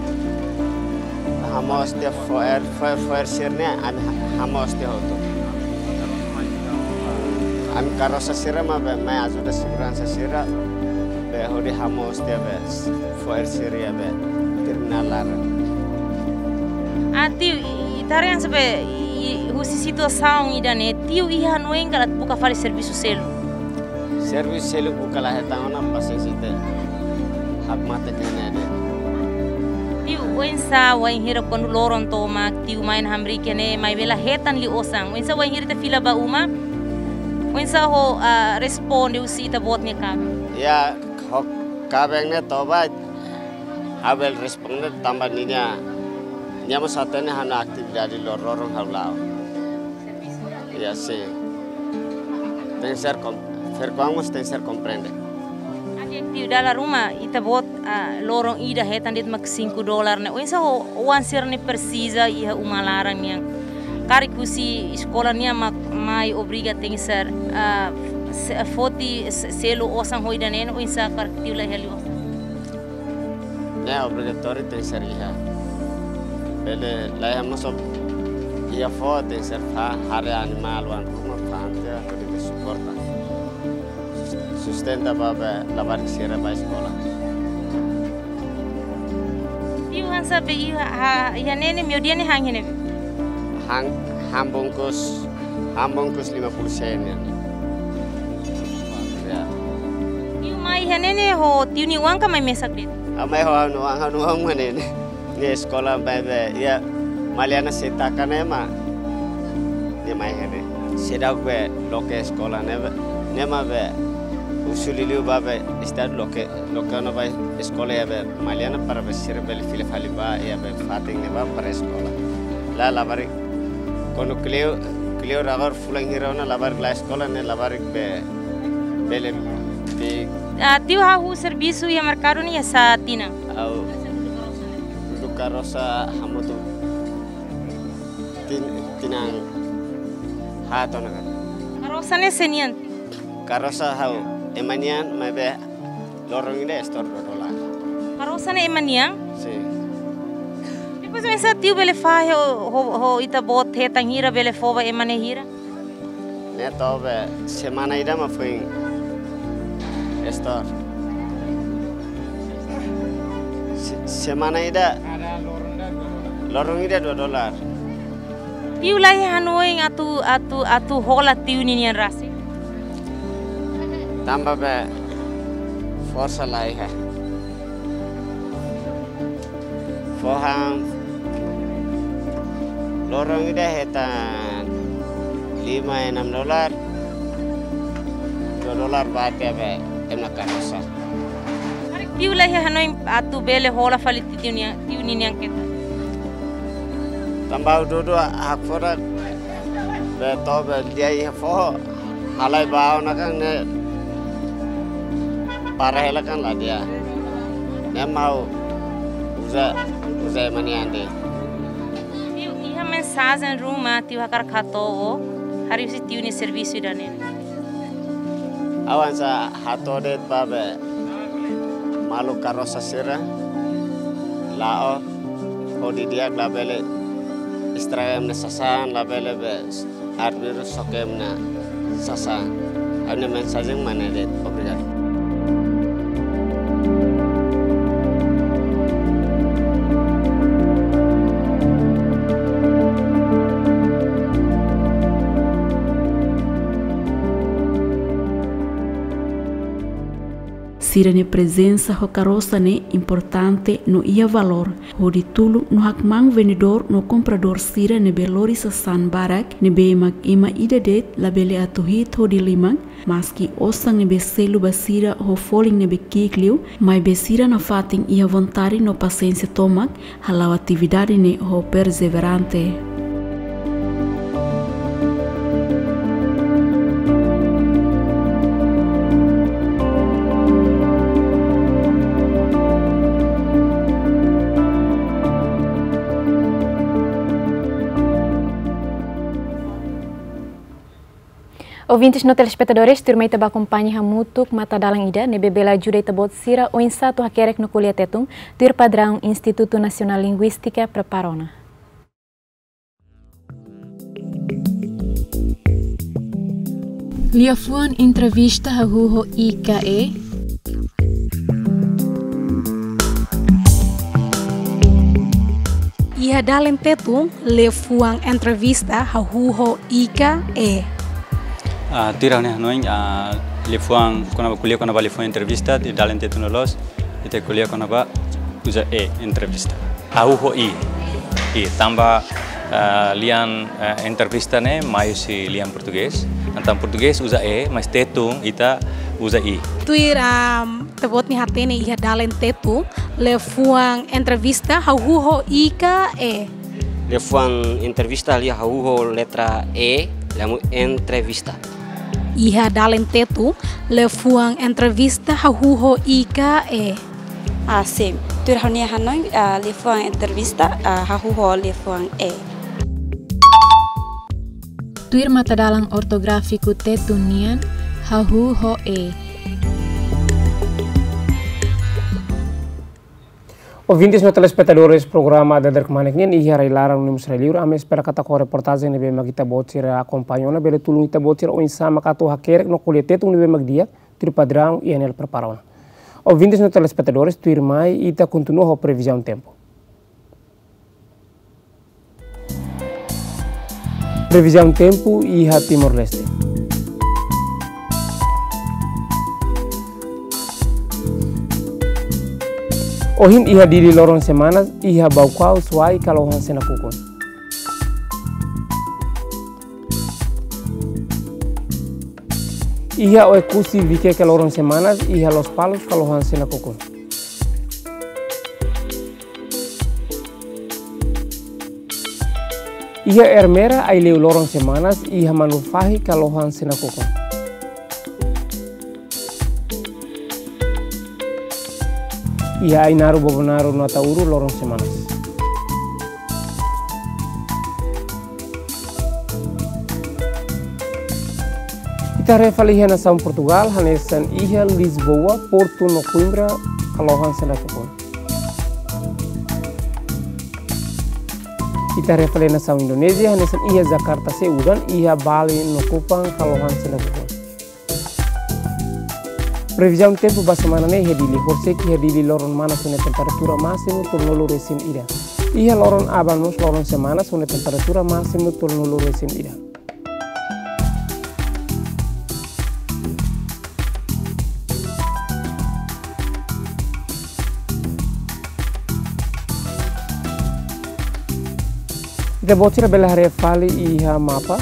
Hamoos tiha fo'er, fo'er, fo'er sira-ne'e, ami ha-, hamoos tiha hotu. Ami karosa sira mak be mai ajuda seguransa sira, be hodi hamoos tiha be fo'er sira iha be terminál laran. Ah, tiu, i-, ita haree hanesan be, i-, husi situasaun ida-ne'e, tiu iha hanoin ka lae atu buka fali servisu seluk? Servisu seluk buka la hetan ona, pasiénsia ita hakmatek iha ne'e de'it. Tiu, oinsá wainhira kuandu loron tomak, tiu mai ona hamriik iha ne'e, maibé la hetan liu osan? Oinsá wainhira ita fila ba uma? Oinsá ho, ah, responde husi ita-boot nia kaben? Ya, ho kaben ne'e toba, ha'u bele responde tanba ninia, nia mós hatene ha'u-nia atividade loron-loron ha'u la'o. Ya, sin. Tenke ser kom-, verkoamos tenke ser komprende. Ade tiu dala ruma, ita-boot, ah, loron ida hetan de'it mak cinco dólar ne'e. Oinsá ho, oan sira-ne'e presiza iha uma laran nian. Karik husi eskola nian mak mai obriga tenke ser, ah, se-, foti se-, selu osan ho ida-ne'e, oinsá karik tiu la heli osan. Ne'e obrigatóriu tenke ser iha. Bele laiha mós iha fó tenke ser fó haree animál oan ruma fó ante hodi suporta. Sustenta ba be labarik sira ba eskola. Tiu han sá be iha, ha, iha ne'e ne'e meiudia ne'e han iha ne'ebé? Han, han bungkus, han bungkus lima puluh sen ya. Ya. Tiu mai iha ne'e ne'e ho tiu nia oan ka mai mesak de'it? Ah, mai ho ha'u-nia oan, ha'u-nia oan mak ne'e ne'e. Nia eskola mai be, iha Maliana sei taka ne'e mak. Nia mai iha ne'e. Seidauk be loke eskola ne'e be. Ne'e mak be husu liuliu ba be estadu loke, loke ona ba eskola iha be Maliana para be sira bele fila fali ba iha be fatin ne'ebá para eskola. La labarik kuandu kleur, kleur agora fulan hira ona labarik la eskola ne'e labarik be bele be. Ah, tiu hahú servisu iha merkadu ne'e iha sá tinan? Ha'u dudu karosa hamutuk tin-, tinan haat ona karik. Karosa ne'e sé nian? Karosa ha'u ema nian, maibé loron ida store dua dólar. Karosa ne'e ema nian? Sin. Depois oinsá tiu bele fahe ho, ho, ho ita-boot hetan hira bele fó ba ema ne'e hira? Ne'e to'o be semana ida mak foin store. Se-, semana ida. Loron ida dua dólar. Tiu la iha hanoin atu, atu, atu hola tiu ninian rasik? Tanba be forsa la iha. Fó han loron ida hetan lima enam dólar, dua dólar ba tiha be ema karosa. Karik tiu la iha hanoin atu bele hola fali tiu nia, tiu ninian ketak? Tanba ha'u dudu hakfodak be to'o be di'ak iha foho. Halai ba ona kan ne'e para hela kan la di'ak. Ne'e mak ha'u uza, uza ema nian de'it. Tiu, iha mensajen ruma tiu hakarak hato'o, harii husi tiu nia servisu ida-ne'e? Ha'u hanesan hato'o de'it ba be maluk karosa sira, la'o, hodi di'ak labele estraga ema nia sasán, labele be arbiru soke ema nia sasán. Ha'u-nia mensajen mak ne'e de'it. Obrigadu. Sira-nia prezensa ho karosa ne'e importante no iha valór, hodi tulun no hakmaan vendedór no kompradór sira ne'ebé lori sasán barak, ne'ebé mak ema ida de'it labele atu hi'it hodi liman, maski osan ne'ebé selu ba sira ho folin ne'ebé ki'ik liu, maibé sira nafatin iha vontade no pasiénsia tomak, hala'o atividade ne'e ho perseverante. Ouvintes no telespetadores, tuirmai ita bá akompaña hamutuk matadalan ida ne'ebé bele ajuda ita-boot sira oinsá atu hakerek no ko'alia Tetun, tuir padraun Institutu Nasionál Linguístika prepara ona. Liafuan entrevista hahú ho i ka e. Iha dalen Tetun, liafuan entrevista hahú ho i ka e. Ah, tuir ha'u-nia hanoin, ah, liafuan kona-ba, ko'alia kona-ba liafuan entrevista, iha dalen Tetun loloos, ita ko'alia kona-ba uza e entrevista. Hahú ho i. I, tanba, ah, lian, ah, entrevista ne'e mai husi lian portugés. Entaun portugés uza e, mas Tetun ita uza i. Tuir, ah, ita-boot nia hatene iha dalen Tetun, liafuan entrevista hahú ho i ka e. Liafuan entrevista lia hahú ho letra e. Lemu entrevista. Iha dalen Tetun, liafuan entrevista hahú ho i ka e? Ah, sin. Tuir ha'u-nia hanoin, ah, liafuan entrevista, ah, hahú ho liafuan e. Tuir matadalan ortográfiku Tetun nian, hahú ho e. Ouvintes no telespetadores programa Dader Kmanek nian iha rai-laran no mós rai-liur, ami espera katak ho reportajen ne'ebé mak ita-boot sira akompaña ona bele tulun ita-boot sira oinsá mak atu hakerek no ko'alia Tetun ne'ebé mak di'ak, tuir padraun I N L prepara ona. Ouvintes no telespetadores, tuirmai ita kontinua ho previzaun tempu. Previzaun tempu iha Timor-Leste. Ohin iha Dili loron semanas, iha Baucau, Suai ka Lohan sei nakukun. Iha Oekusi, Viqueque loron semanas, iha Lospalos ka Lohan sei nakukun. Iha Ermera, Aileu loron semanas, iha Manufahi ka Lohan sei nakukun. Iha Ainaro, Bobonaro no Ataúro loron semanas. Ita haree fali iha nasaun Portugal, hanesan iha Lisboa, Porto no Coimbra ka Lohan sei nakukun. Ita haree fali nasaun Indonézia, hanesan iha Jakarta sei udan, iha Bali no Kupang ka Lohan sei nakukun. Previzaun tempu ba semana ne'e iha Dili, horisehik iha Dili loron manas ho nia temperatura másimu tolunulu resin ida. Iha loron aban mós loron semanas ho nia temperatura másimu tolunulu resin ida. Ita-boot sira bele haree fali iha mapa.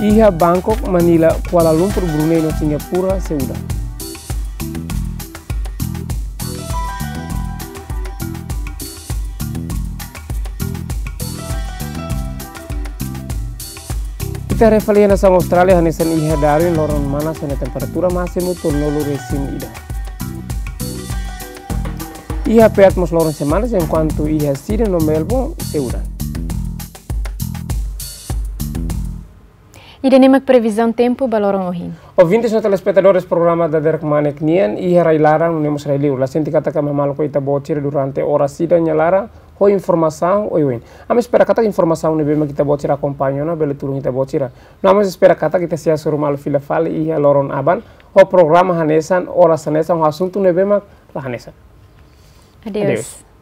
Iha Bangkok, Manila, Kuala Lumpur, Brunei no Singapura sei udan. Ita haree fali nasaun Austrália, hanesan iha Darwin loron manas ho nia temperatura másimu tolunulu resin ida. Iha Perth mós loron semanas, enkuantu iha Sydney no Melbourne sei udan. Ida-ne'e mak previzaun tempu ba loron ohin. Ouvintes no telespetadores programa Dader Kmanek nian, iha rai-laran no mós rai-liur, la sente katak ami maluk ho ita-boot sira durante oras ida nia laran ho informasaun oioin. Ami espera katak informasaun ne'ebé mak ita-boot sira akompaña ona bele tulun ita-boot sira. No ami espera katak ita sei hasoru malu fila fali iha loron aban ho programa hanesan, oras hanesan, ho asuntu ne'ebé mak la hanesan. Adeus. Adeus.